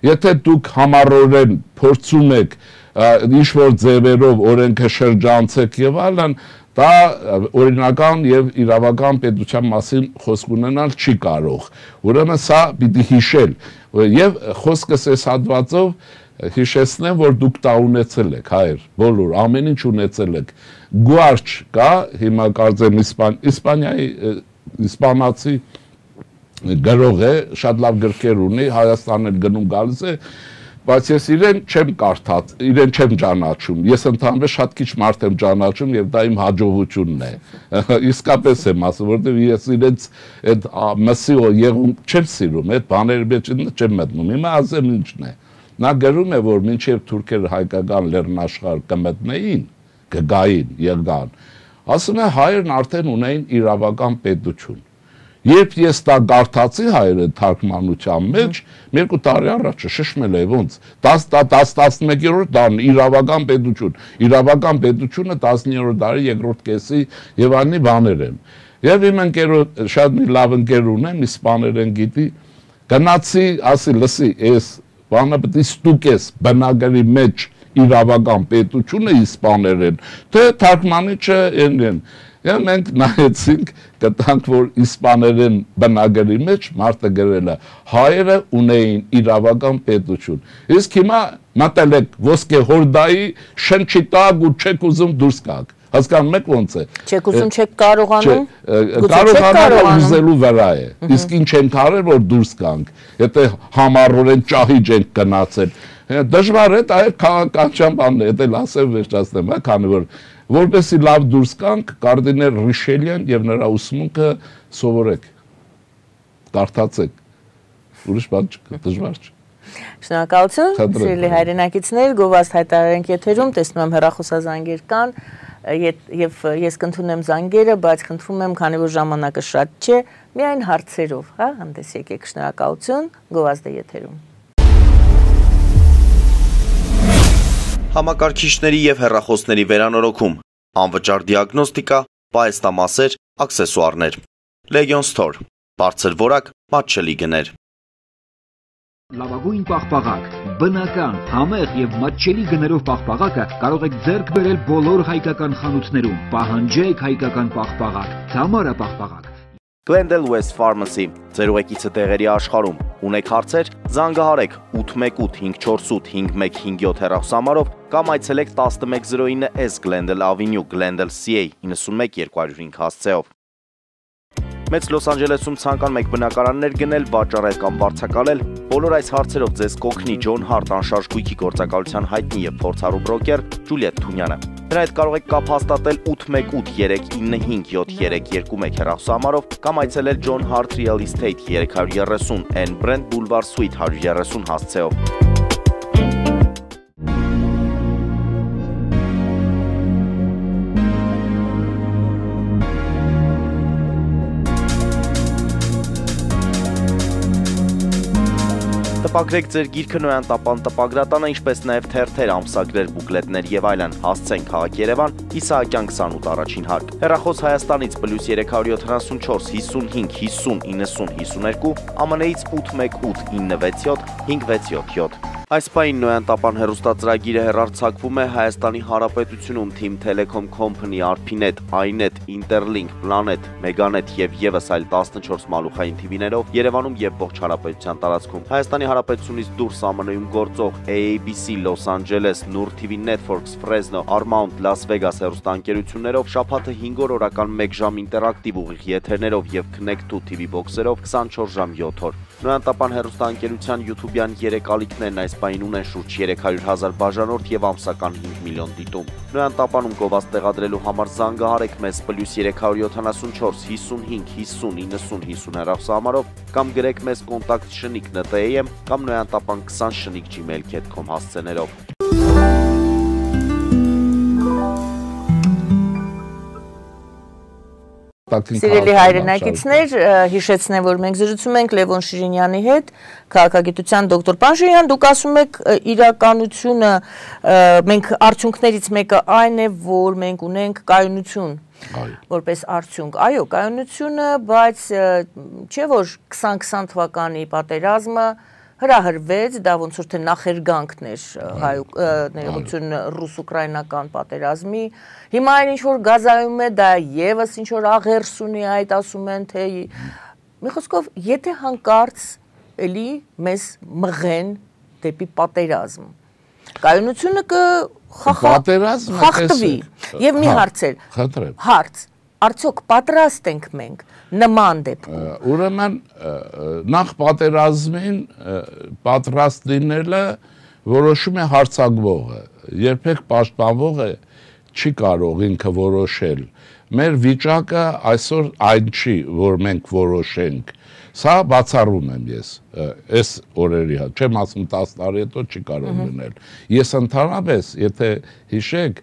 Եթե դուք համառորեն փորձում եք ինչ-որ ձևերով օրենքը շրջանցեք եւ այլն, դա օրինական եւ իրավական պետության մասին խոսք ունենալ չի կարող։ Ուրեմն սա պիտի հիշել եւ խոսքս այս հատվածով հիշեցնեմ, որ դուք դա ունեցել եք, հայր, բոլոր, ամեն ինչ ունեցել եք, գուարչ կա, հիմա կարծեմ Իսպանիայի, իսպանացի գրող է, շատ լավ գրքեր ունի, Հայաստան էլ գնում գալիս է, բայց ես իրեն չեմ կարդաց, իրեն չեմ ճանաչում, ես ընդհանրապես շատ քիչ մարդ եմ ճանաչում եւ դա իմ հաջողությունն է, իսկապես եմ ասում, որտեղ ես իրենց այդ մսի եղում չեմ սիրում, այդ բաների մեջ չեմ մտնում, հիմա ասեմ ինչն է։ Նա գրում է, որ մինչև թուրքերը հայկական լեռնաշխարհ կմտնեին, կգային, եղան, ասում է հայերն արդեն ունեին իրավական պետություն։ Երբ ես դա կարդացի հայերը թարգմանության մեջ, 2 տարի առաջ շշմել է ոնց, 11-րդ դարն իրավական պետություն, իրավական պետությունը 19-րդ դարի երկրորդ կեսի եւ այլնի բաներ են։ Եվ իմ ընկերոջ շատ մի լավ ընկեր ունեմ, իսպաներեն գիտի, գնացի, ասի, լսի, ես բանը պետք է ստուկես բնագարի մեջ իրավական պետությունը իսպաներեն, թե թարգմանիչը են։ Եվ մենք նայեցինք, գտանք, որ իսպաներեն բնագարի մեջ մարդը գրել է, հայերը ունեին իրավական պետություն։ Իսկ հիմա մտել եք ոսկե հորդայի շնչի տակ ու չեք ուզում դուրս գաք։ Հասկանում եք ոնց է։ Չեք ուզում, չեք կարողանում։ Կարողանալ ուզելու վրա է։ Իսկ ինչ ենք արել, որ դուրս գանք։ Եթե համառորեն ճահիճ ենք գնացել։ Դժվար է, դա է քաղաքական բանն է, դա ասեմ վերջացնեմ, հա, քանի որ որպեսզի լավ դուրս գանք, կարդինել Ռիշելյան եւ նրա ուսմունքը սովորեք։ Կարդացեք։ Ուրիշ բան չկա, դժվար չէ։ Շնորհակալություն, սիրելի հայրենակիցներ, գովազդ հայտարարենք եթերում, տեսնում եմ հեռախոսազանգեր կան, եւ ես կընդունեմ զանգերը, բայց խնդրում եմ, քանի որ ժամանակը շատ չէ, միայն հարցերով, հա, հանդես եկեք, շնորհակալություն, գովազդը եթերում։ Համակարգիչների և հեռախոսների վերանորոգում, անվճար դիագնոստիկա, պահեստամասեր, աքսեսուարներ։ Legion Store, բարձր որակ, մատչելի գներ։ Լավագույն պաղպաղակ, բնական, համեղ և մատչելի գներով պաղպաղակը կարող եք ձեռք բերել բոլոր հայկական խանութներում։ Պահանջեք հայկական պաղպաղակ, Թամարա պաղպաղակ։ Glendale West Pharmacy, ձեր ուղեկիցը տեղերի աշխարհում։ Ունեք հարցեր, զանգահարեք 818 548 5157 հեռախոսահամարով կամ այցելեք 1109S Glendale Avenue, Glendale CA 91 205 հասցեով։ Մեծ Լոս Անջելեսում ցանկանում եք բնակարաններ գնել, վաճառել կամ վարձակալել, բոլոր այս հարցերով ձեզ կօգնի John Hart անշարժ գույքի գործակալության հայտնի եւ փորձառու բրոկեր Ջուլիետ Թունյանը։ Նրա հետ կարող եք կապ հաստատել 818 395 7321 հեռախոսահամարով կամ այցելել John Hart Real Estate 330 N Brent Boulevard Suite 130 հասցեով։ Տպագրեք ձեր գիրքը Նոյան տապան տպագրատանը, ինչպես նաև թերթեր, ամսագրեր, բուկլետներ եւ այլն։ Հասցեն քաղաք Երևան, Իսահակյան 28 առաջին հարկ։ Հեռախոս Հայաստանից +374 55 50 90 52, ԱՄՆ-ից 818 967 567։ Այս պահին Նոյան տապան հեռուստածրագիրը հեռարձակվում է Հայաստանի Հանրապետությունում Team Telecom Company, Arpinet, iNet, Interlink, Planet, Meganet եւ եւս այլ 14 մալուխային TV-ներով Երևանում եւ ողջ հանրապետության տարածքում։ Հայաստանի Հանրապետությունից դուրս ԱՄՆ-ում գործող AABC, Los Angeles, Nur TV Networks, Fresno, Paramount, Las Vegas հեռուստաընկերություններով շաբաթը 5 օր օրական 1 ժամ ինտերակտիվ ուղիղ եթերներով եւ Connect 2 TV box-երով 24 ժամ 7 օր։ Նոյան տապան հեռուստաընկերության YouTube-յան 3 ալիքներն այս պահին ունեն շուրջ 300,000 բաժանորդ եւ ամսական 5 միլիոն դիտում։ Նոյան տապանում գովազդ տեղադրելու համար զանգահարեք մեզ +374 55 50 90 50 հեռախոսահամարով կամ գրեք մեզ կոնտակտ shnik.am կամ noyantapan20shnik@gmail.com հասցեներով։ Սիրելի հայրենակիցներ, հիշեցնեմ, որ մենք զրուցում ենք Լևոն Շիրինյանի հետ, քաղաքագիտության դոկտոր։ Պարոն Շիրինյան, դուք ասում եք իրականությունը, մենք արդյունքներից մեկը այն է, որ մենք ունենք կայունություն որպես արդյունք։ Այո, կայունությունը, բայց չէ՞ որ 2020 թվականի պատերազմը հրահրվեց, դա ոնց որ թե նախերգանքն էր ներողություն ռուս-ուկրաինական պատերազմի։ Հիմա այն ինչ որ գազայում է, դա եւս ինչ որ աղերս ունի, այդ ասում են թե մի խոսքով, եթե հանկարծ էլի մեզ մղեն դեպի պատերազմ, կայունությունը կխախտվի։ Եվ մի հարցեր, հարց, արդյոք պատրաստ ենք մենք նման դեպքում։ Ուրեմն նախ պատերազմին պատրաստ լինելը որոշում է հարձակվողը, երբեք պաշտպանվողը չի կարող ինքը որոշել։ Մեր վիճակը այսօր այն չի, որ մենք որոշենք։ Սա բացառում եմ ես, այս օրերի հետ, չեմ ասում 10 տարի հետո չի կարող լինել։ Ես ընդհանրապես, եթե հիշեք,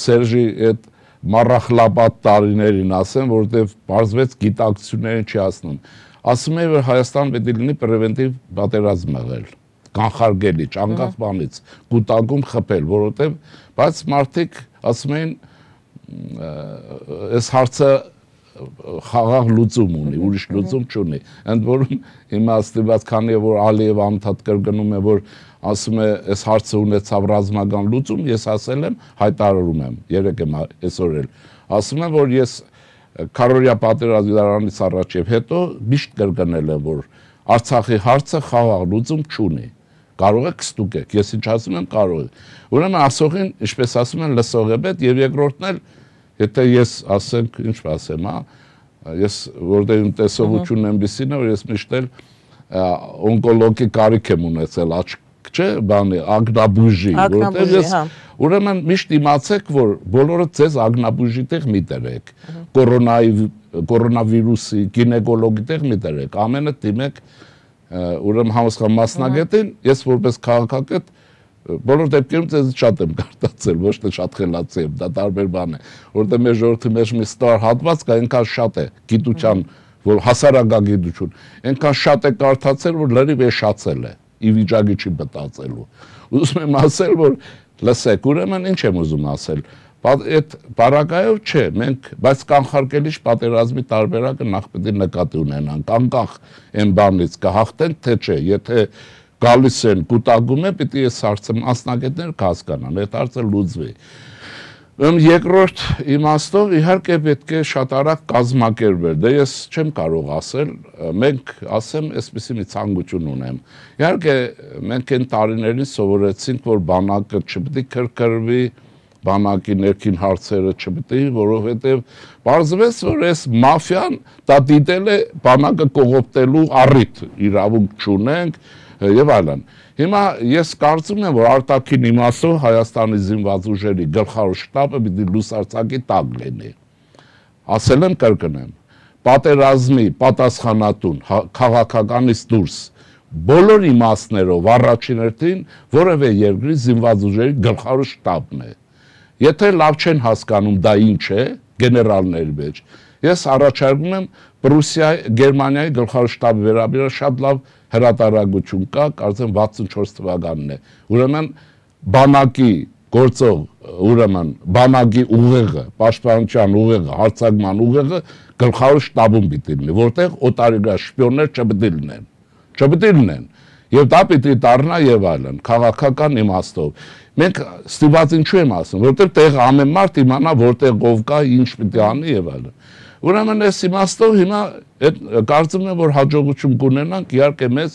Սերժի այդ մառախլապատ տարիներին ասեմ, որովհետև պարզվեց գիտակցություններին չի ասնում։ Ասում է, որ Հայաստան պետք է լինի պրևենտիվ պատերազմ եղել, կանխարգելիչ, անկախ բանից, կուտակում խփել, որովհետև բայց մարդիկ ասում էին, այս հարցը խաղաղ լուծում ունի, ուրիշ լուծում չունի։ Ընդ որում հիմա ստիպված, քանի որ Ալիևը անդադ կրկնում է, որ ասում է, այս հարցը ունեցավ ռազմական լուծում, ես ասել եմ, հայտարարում եմ, երեկ եմ այսօր էլ, ասում եմ, որ ես քարորիա պատերազմի դրանից առաջ եւ հետո միշտ կրկնել եմ, որ Արցախի հարցը խաղաղ լուծում չունի։ Կարող եք ստուգեք, ես ինչ ասում եմ, կարող եք։ Ուրեմն ասողին, ինչպես ասում են, լսող է պետք եւ երկրորդն էլ, եթե ես ասենք, ինչ ասեմ, ես որտեղ իմ տեսողությունն այնպեսին է, որ ես միշտ էլ օնկոլոգի կարիք եմ ունեցել, չէ, բանի, ագնաբուժի, որտեղ ես ուրեմն միշտ իմացեք, որ բոլորը ձեզ ագնաբուժի տեղ մի դրեք, կորոնավիրուսի, գինեկոլոգի տեղ մի դրեք, ամենը դիմեք ուրեմն համասխան մասնագետին, ես որպես քաղաքագետ բոլոր դեպքերում ձեզ շատ եմ կարդացել, ոչ թե շատ խելացի եմ, դա տարբեր բան է, որտեղ մեր ժողովրդի մեջ մի ստար հատված կա, այնքան շատ է գիտության, որ հասարակագիտություն, այնքան շատ է կարդացել, որ լրիվ էշացել է, ի վիճակի չի մտածելու։ Ուզում եմ ասել, որ լսեք, ուրեմն ինչ եմ ուզում ասել, այդ բարակայով չէ, մենք, բայց կանխարգելիչ պատերազմի տարբերակը նախ պետք է նկատի ունենանք, անկախ այն բանից կհաղթենք, թե չէ, եթե գալիս են կուտակում է, պիտի այս հարցը մասնագետներ կհասկանան, այդ հարցը լուծվի։ Երկրորդ իմաստով իհարկե պետք է շատ արագ կազմակերպել, դե ես չեմ կարող ասել, մենք ասեմ այսպիսի մի ցանկություն ունեմ։ Իհարկե մենք այն տարիներին սովորեցինք, որ բանակը չպետք է քրքրվի, բանակի ներքին հարցերը չպետք է, որովհետև պարզվեց, որ այս մաֆիան դա դիտել է բանակը կողոպտելու առիթ, իրավունք չունենք եւ այլն։ Հիմա ես կարծում եմ, որ արտաքին իմաստով Հայաստանի զինված ուժերի գլխավոր շտաբը պիտի լուսարձակի տակ լինի։ Ասել եմ, կրկնեմ, պատերազմի պատասխանատուն քաղաքականից դուրս բոլոր իմաստներով առաջին հերթին որևէ երկրի զինված ուժերի գլխավոր շտաբն է։ Եթե լավ չեն հասկանում դա ինչ է, գեներալների մեջ, ես առաջարկում եմ Գերմանիայի գլխավոր շտաբի վերաբերյալ շատ լավ հրատարակություն կա, կարծեմ 64 թվականն է։ Ուրեմն բանակի գործող, ուրեմն բանակի ուղեղը, պաշտպանության ուղեղը, հարձակման ուղեղը գլխավոր շտաբում պիտի լինի, որտեղ օտարերկրյա շպիոններ չպետք է լինեն։ Եվ դա պիտի դառնա եւ այլն, քաղաքական իմաստով։ Մենք ստիպված ինչու եմ ասում, որտեղ տեղ ամեն մարդ իմանա որտեղ ով կա, ինչ պիտի անի եւ այլն։ Ուրեմն այս իմաստով հիմա կարծում եմ, որ հաջողություն կունենանք, իհարկե մեզ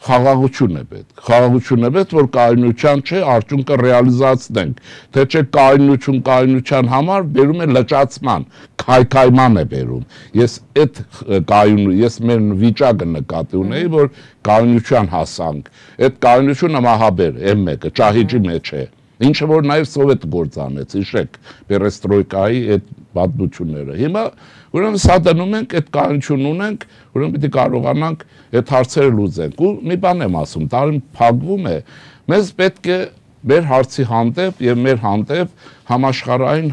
խաղաղություն է պետք։ Խաղաղություն է պետք, որ կայունության չէ, արդյունքը ռեալիզացնենք, թե չէ կայունության համար բերում է լճացման, քայքայման է բերում։ Ես մեր վիճակը նկատի ունեի, որ կայունության հասանք։ Այդ կայունությունը մահաբեր է մեկը, ճահիճի մեջ է։ Ինչը որ նաև սովետը գործանեց, հիշեք, պերեստրոյկայի այդ պատմությունները։ Հիմա ուրեմն սա դնում ենք, այդ կայունություն ունենք, ուրեմն պիտի կարողանանք այդ հարցերը լուծենք։ Ու մի բան եմ ասում, տարին փակվում է, մեզ պետք է մեր հարցի հանդեպ եւ մեր հանդեպ համաշխարհային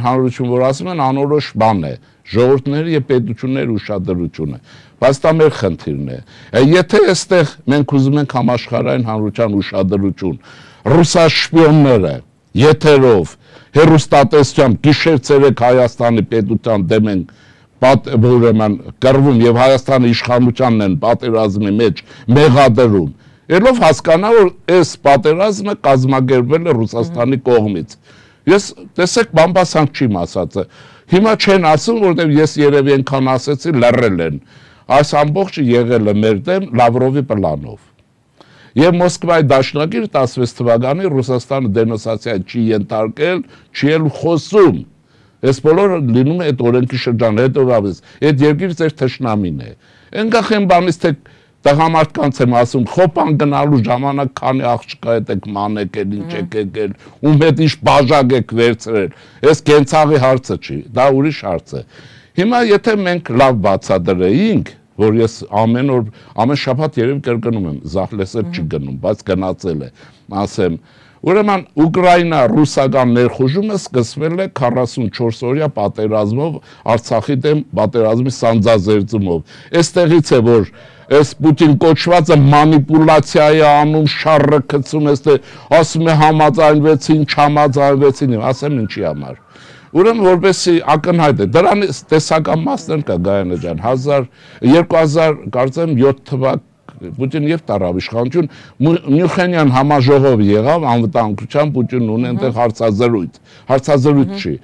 հանրություն, որ ասում են անորոշ բան է, ժողովուրդների եւ պետությունների ուշադրությունը, բայց դա մեր խնդիրն է։ Եթե այստեղ մենք ուզում ենք համաշխարհային հանրության ուշադրություն, ռուսաշպիոնները եթերով, հեռուստատեսությամբ գիշեր-ցերեկ Հայաստանի պետության դեմ են ուրեմն կռվում եւ Հայաստանի իշխանությանն են պատերազմի մեջ մեղադրում, ելով հասկանա, որ այս պատերազմը կազմակերպվել է Ռուսաստանի կողմից։ Ես տեսեք բամբասանք չիմ ասածը։ Հիմա չեն ասում, որտեղ ես երևի այնքան ասեցի, լռել են։ Այս ամբողջը եղել է մեր դեմ Լավրովի պլանով։ Եվ Մոսկվայի դաշնակիր 16 թվականի Ռուսաստանը դենոնսացիա չի ենթարկել, չի էլ խոսում։ Այս բոլորը լինում է այդ օրենքի շրջանը, հետևաբար այդ երկիրը ձեր թշնամին է։ Այնքան են բանից թե տղամարդկանց եմ ասում, խոպան գնալու ժամանակ քանի աղջկա հետ եք մանեկել, ինչ եք եկել, ում հետ ինչ բաժակ եք վերցրել։ Այս կենցաղի հարցը չի, դա ուրիշ հարց է։ Հիմա եթե մենք լավ բացատրեինք, որ ես ամեն շաբաթ երևի կրկնում եմ, զահլեսեր չի գնում, բայց գնացել է, ասեմ, ուրեմն Ուկրաինա-ռուսական ներխուժումը սկսվել է 44 օրյա պատերազմով, Արցախի դեմ պատերազմի սանձազերծումով։ Այստեղից է, որ այս Պուտին կոչվածը մանիպուլացիա է անում, շարը գցում, ասում է համաձայնվեցին, չհամաձայնվեցին, ասեմ ինչի համար։ Ուրեմն որպեսզի ակնհայտ է, դրանից տեսական մասն կա Գայանե ջան, 2000 կարծեմ 7 թվակ Պուտին եւ տարավ իշխանություն, Մյունխենյան համաժողով եղավ, անվտանգության Պուտինն ունի այնտեղ հարցազրույց չի,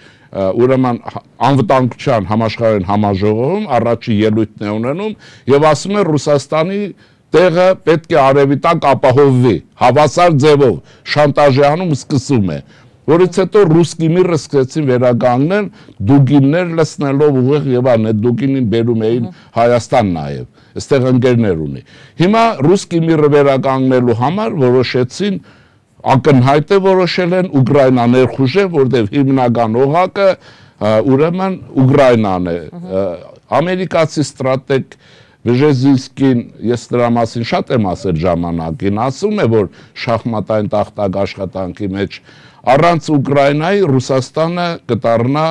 ուրեմն անվտանգության համաշխարհային համաժողովում առաջի ելույթն է ունենում եւ ասում է Ռուսաստանի տեղը պետք է արևի տակ ապահովվի, հավասար ձևով շանտաժի անում սկսում է, որից հետո ռուսկի միրը սկսեցին վերականգնել, դուգիններ լցնելով ուղիղ եւ այլն, դուգինին բերում էին Հայաստան նաեւ, այստեղ ընկերներ ունի։ Հիմա ռուսկի միրը վերականգնելու համար որոշեցին ակնհայտ է որոշել են Ուկրաինա ներխուժել, որտեղ հիմնական օղակը ուրեմն Ուկրաինան է։ Ամերիկացի ստրատեգ Բժեզինսկին, ես դրա մասին շատ եմ ասել ժամանակին, ասում է, որ շախմատային տախտակ աշխատանքի մեջ առանց Ուկրաինայի Ռուսաստանը կդառնա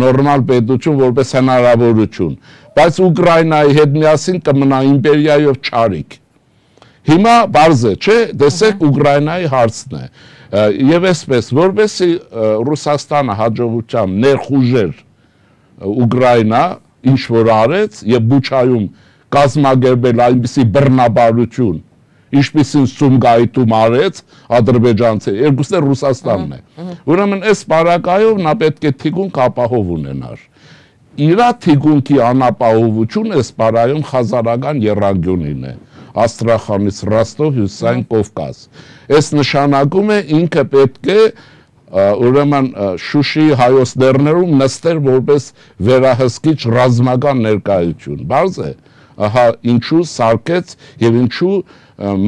նորմալ պետություն որպես հնարավորություն, բայց Ուկրաինայի հետ միասին կմնա իմպերիայով չարիք։ Հիմա բարձ է, չէ, տեսեք Ուկրաինայի հարցն է։ Եվ այսպես, որովհետեւ Ռուսաստանը հաջողությամբ ներխուժեր Ուկրաինա, ինչ որ արեց եւ Բուչայում կազմակերպել այնպիսի բռնաբարություն, ինչպիսին Սումգայիթում արեց ադրբեջանցի, երկուսն էլ Ռուսաստանն է։ Ուրեմն այս բարակայով նա պետք է թիկունք ապահով ունենար։ Իրա թիկունքի անապահովությունը այս բարայում խազարական եռանկյունին է։ Աստրախանից Ռոստով հյուսիսային Կովկաս։ Այս նշանակում է ինքը պետք է ուրեմն Շուշիի հայոց լեռներում նստեր որպես վերահսկիչ ռազմական ներկայություն։ Բարձ է, ահա ինչու սարքեց եւ ինչու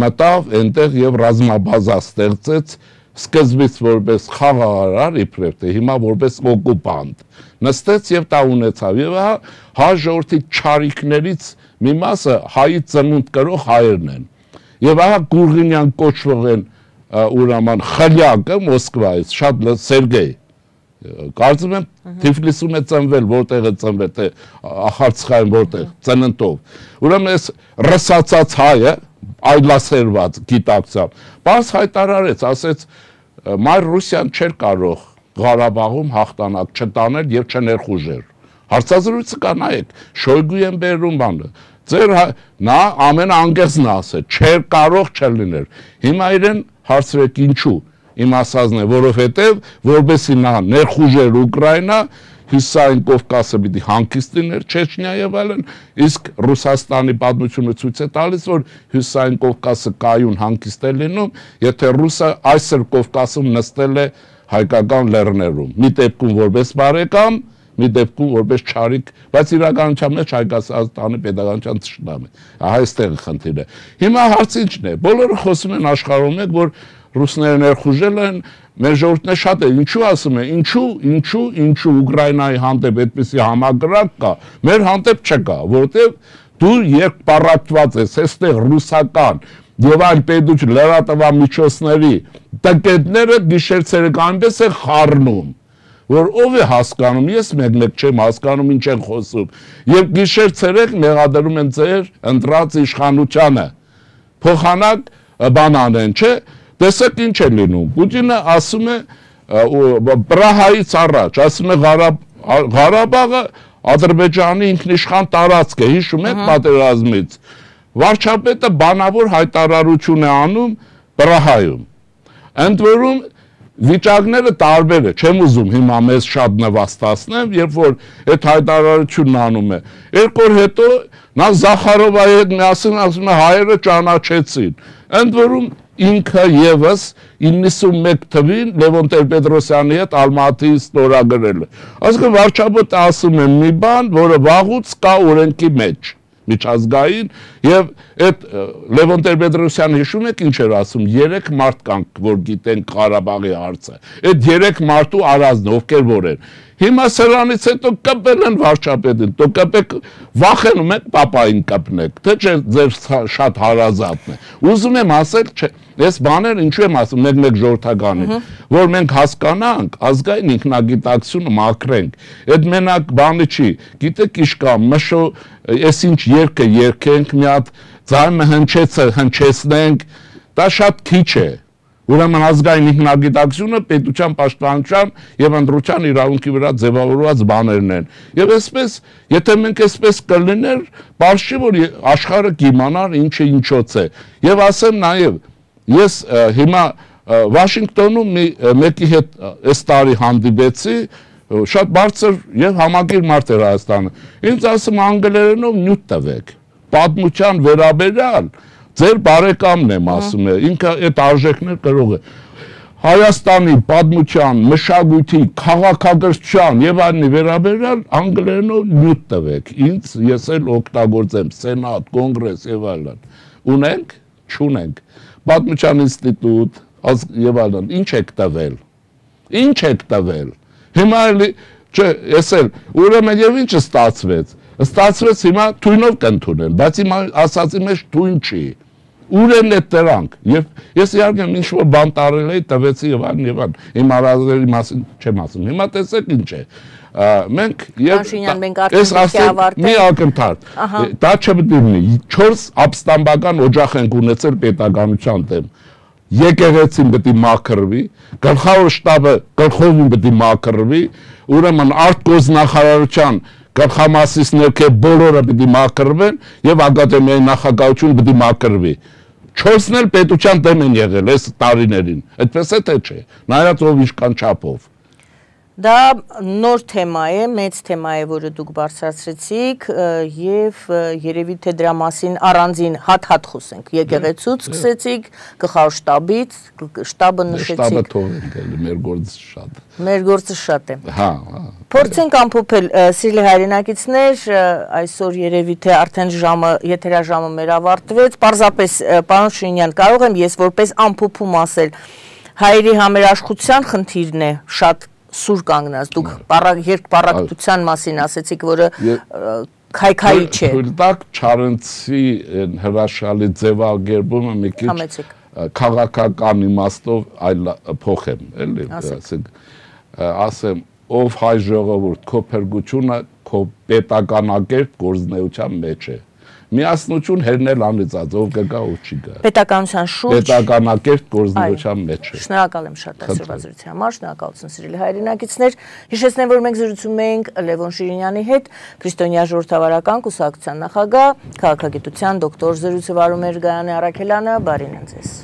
մտավ այնտեղ եւ ռազմաբազա ստեղծեց սկզբից որպես խաղաղարար իբրև թե հիմա որպես օկուպանտ նստեց եւ դա ունեցավ եւ հա ժողովրդի չարիքներից մի մասը հայի ծնունդ կրող հայերն են եւ ահա Գուրգինյան կոչվող են ուրաման խլյակը Մոսկվայից շատ Սերգեյ կարծում եմ Թիֆլիսում է ծնվել որտեղ է ծնվել թե Ախարցխայում որտեղ ծննդով ուրեմն այս ռսացած հայը այլասերված գիտակցությամբ բաց հայտարարեց ասեց մայր Ռուսիան չէր կարող Ղարաբաղում հաղթանակ չտանել եւ չներխուժեր հարցազրույցը կա նայեք Շոյգուի են բերում բանը ձեր նա ամենաանգերսն ասել չէր կարող չլիներ հիմա իրեն հարցրեք ինչու իմ ասածն է որովհետեւ որբեսի նա ներխուժեր Ուկրաինա Հյուսիսային Կովկասը պիտի հանգիստ լիներ Չեչնիա եւ այլն իսկ Ռուսաստանի պատմությունը ցույց է տալիս որ Հյուսիսային Կովկասը կայուն հանգիստ է լինում եթե ռուսը այսօր Կովկասում նստել է հայկական լեռներում մի դեպքում որպես բարեկամ մի դեպքում որպես չարիք բայց իրականության մեջ Հայկաստանի pedagogical ճշտամ է ահա այստեղ խնդիրը հիմա հարցը ինչն է բոլորը խոսում են աշխարհում եք որ ռուսները ներխուժել են մեր ժողովուրդն է շատ է ինչու ասում է ինչու Ուկրաինայի հանդեպ այդպիսի համակարգ կա մեր հանդեպ չկա որովհետև դու երկպառակտված ես այստեղ ռուսական եւ այլ պետություն լրատվամիջոցների տակետները գիշեր-ցերեկայինպես է խառնում որ ով է հասկանում ես մեկ չեմ հասկանում ինչ են խոսում եւ գիշեր-ցերեկ մեղադրում են ձեր ընտրած իշխանությանը փոխանակ բանան են չէ տեսեք ինչ է լինում Պուտինը ասում է Պրահայից առաջ ասում է Ղարաբաղը Ադրբեջանի ինքնիշխան տարածք է հիշում եք պատերազմից վարչապետը բանավոր հայտարարություն է անում Պրահայում ընդ որում վիճակները տարբեր է չեմ ուզում հիմա մեզ շատ նվաստացնեմ երբ որ այդ հայտարարությունն անում է երկու օր հետո նա Զախարովայի հետ միասին ասում է հայերը ճանաչեցին ընդ որում ինքը եւս 91 թվին Լևոն Տեր-Պետրոսյանի հետ Ալմատիի ստորագրել է այսինքն վարչապետը ասում է մի բան որը վաղուց կա օրենքի մեջ միջազգային եւ այդ Լևոն Տեր-Պետրոսյանը հիշում եք ինչ էր ասում 3 մարդ կանք որ գիտեն Ղարաբաղի հարցը այդ 3 մարդու արածն ովքեր որ են հիմա սրանից հետո կպել են վարչապետին դու կպեք վախենում եք պապային կպնեք թե չէ ձեր շատ հարազատն է ուզում եմ ասել չէ ես բաներ ինչու եմ ասում մեկ ժողովրդականի որ մենք հասկանանք ազգային ինքնագիտակցությունը մաքրենք այդ մենակ բանը չի գիտեք ինչ կա մշո ես ինչ երգը երգենք մի հատ ձայնը հնչեցնենք դա շատ քիչ է ուրեմն ազգային ինքնագիտակցությունը պետության պաշտպանության եւ ընտրության իրավունքի վրա ձևավորված բաներն են եւ այսպես եթե մենք այսպես կլիներ բարձի որ աշխարհը կիմանար ինչը ինչոց է եւ ասեմ նաեւ ես հիմա Վաշինգտոնում մեկի հետ այս տարի հանդիպեցի շատ բարձր եւ համակիր մարդ էր Հայաստանը ինձ ասում անգլերենով նյութ տվեք պատմության վերաբերյալ ձեր բարեկամն եմ ասում է ինքը այդ արժեքներ կրող է Հայաստանի պատմության մշակույթի քաղաքակրթության եւ այլնի վերաբերյալ անգլերենով նյութ տվեք ինձ ես էլ օգտագործեմ սենատ կոնգրես եւ այլն ունենք չունենք պատմության ինստիտուտ եւ այլն ինչ եք տվել հիմա էլի չէ ես էլ ուրեմն եւ ինչ ստացվեց հիմա թույնով կընդունեն բայց հիմա ասացի մեջ թույն չի Ուր են այդ դրանք։ Եվ ես իհարկե ինչ որ բան տարել էի, տվեցի եւ այլն։ Իմ արազների մասին չեմ ասում։ Հիմա տեսեք ինչ է։ Մենք այս ասեմ մի ակնթարթ։ Դա չպետք է լինի։ 4 ապստամբական օջախ ենք ունեցել պետականության դեմ։ Եկեղեցին պետք է մաքրվի, գլխավոր շտաբը գլխովին պետք է մաքրվի, ուրեմն արտգործնախարարության գլխամասից ներքև բոլորը պետք է մաքրվեն եւ ակադեմիայի նախագահությունը պետք է մաքրվի։ 4-ն էլ պետության դեմ են եղել այս տարիներին։ Այդպես է թե չէ։ Նայած ով ինչքան չափով։ Դա նոր թեմա է, մեծ թեմա է, որը դուք բարձրացրեցիք եւ երևի թե դրա մասին առանձին հատ-հատ խոսենք։ Եկեղեցուց սկսեցիք, գլխավոր շտաբից, շտաբը նշեցիք։ Շտաբը թողենք, մեր գործը շատ։ Մեր գործը շատ է։ Հա։ Փորձենք ամփոփել, սիրելի հայրենակիցներ, այսօր երևի թե արդեն ժամը, եթերաժամը մեր ավարտվեց, պարզապես պարոն Շիրինյան, կարող եմ ես որպես ամփոփում ասել, հայերի համերաշխության խնդիրն է շատ սուր կանգնած, դուք երկպառակտության մասին ասեցիք, որը քայքայի չէ։ Թույլ տաք Չարենցի հրաշալի ձևակերպումը մի քիչ քաղաքական իմաստով այլ փոխեմ, էլի, ասեմ, ով հայ ժողովուրդ, քո փրկությունը քո պետականակերտ գործնեության մեջ է։ Միասնություն հերնել անիծած, ով կգա, ով չի գա։ Պետականության շուրջ պետականակերտ գործնեության մեջ է։ Շնորհակալ եմ շատ այսօրվա զրույցի համար, շնորհակալություն սիրելի հայրենակիցներ։ Հիշեցնեմ, որ մենք զրուցում էինք Լևոն Շիրինյանի հետ, Քրիստոնյա ժողովրդավարական կուսակցության նախագահ, քաղաքագիտության դոկտոր, զրույցը վարում էր Գայանե Առաքելյանը, բարին ձեզ։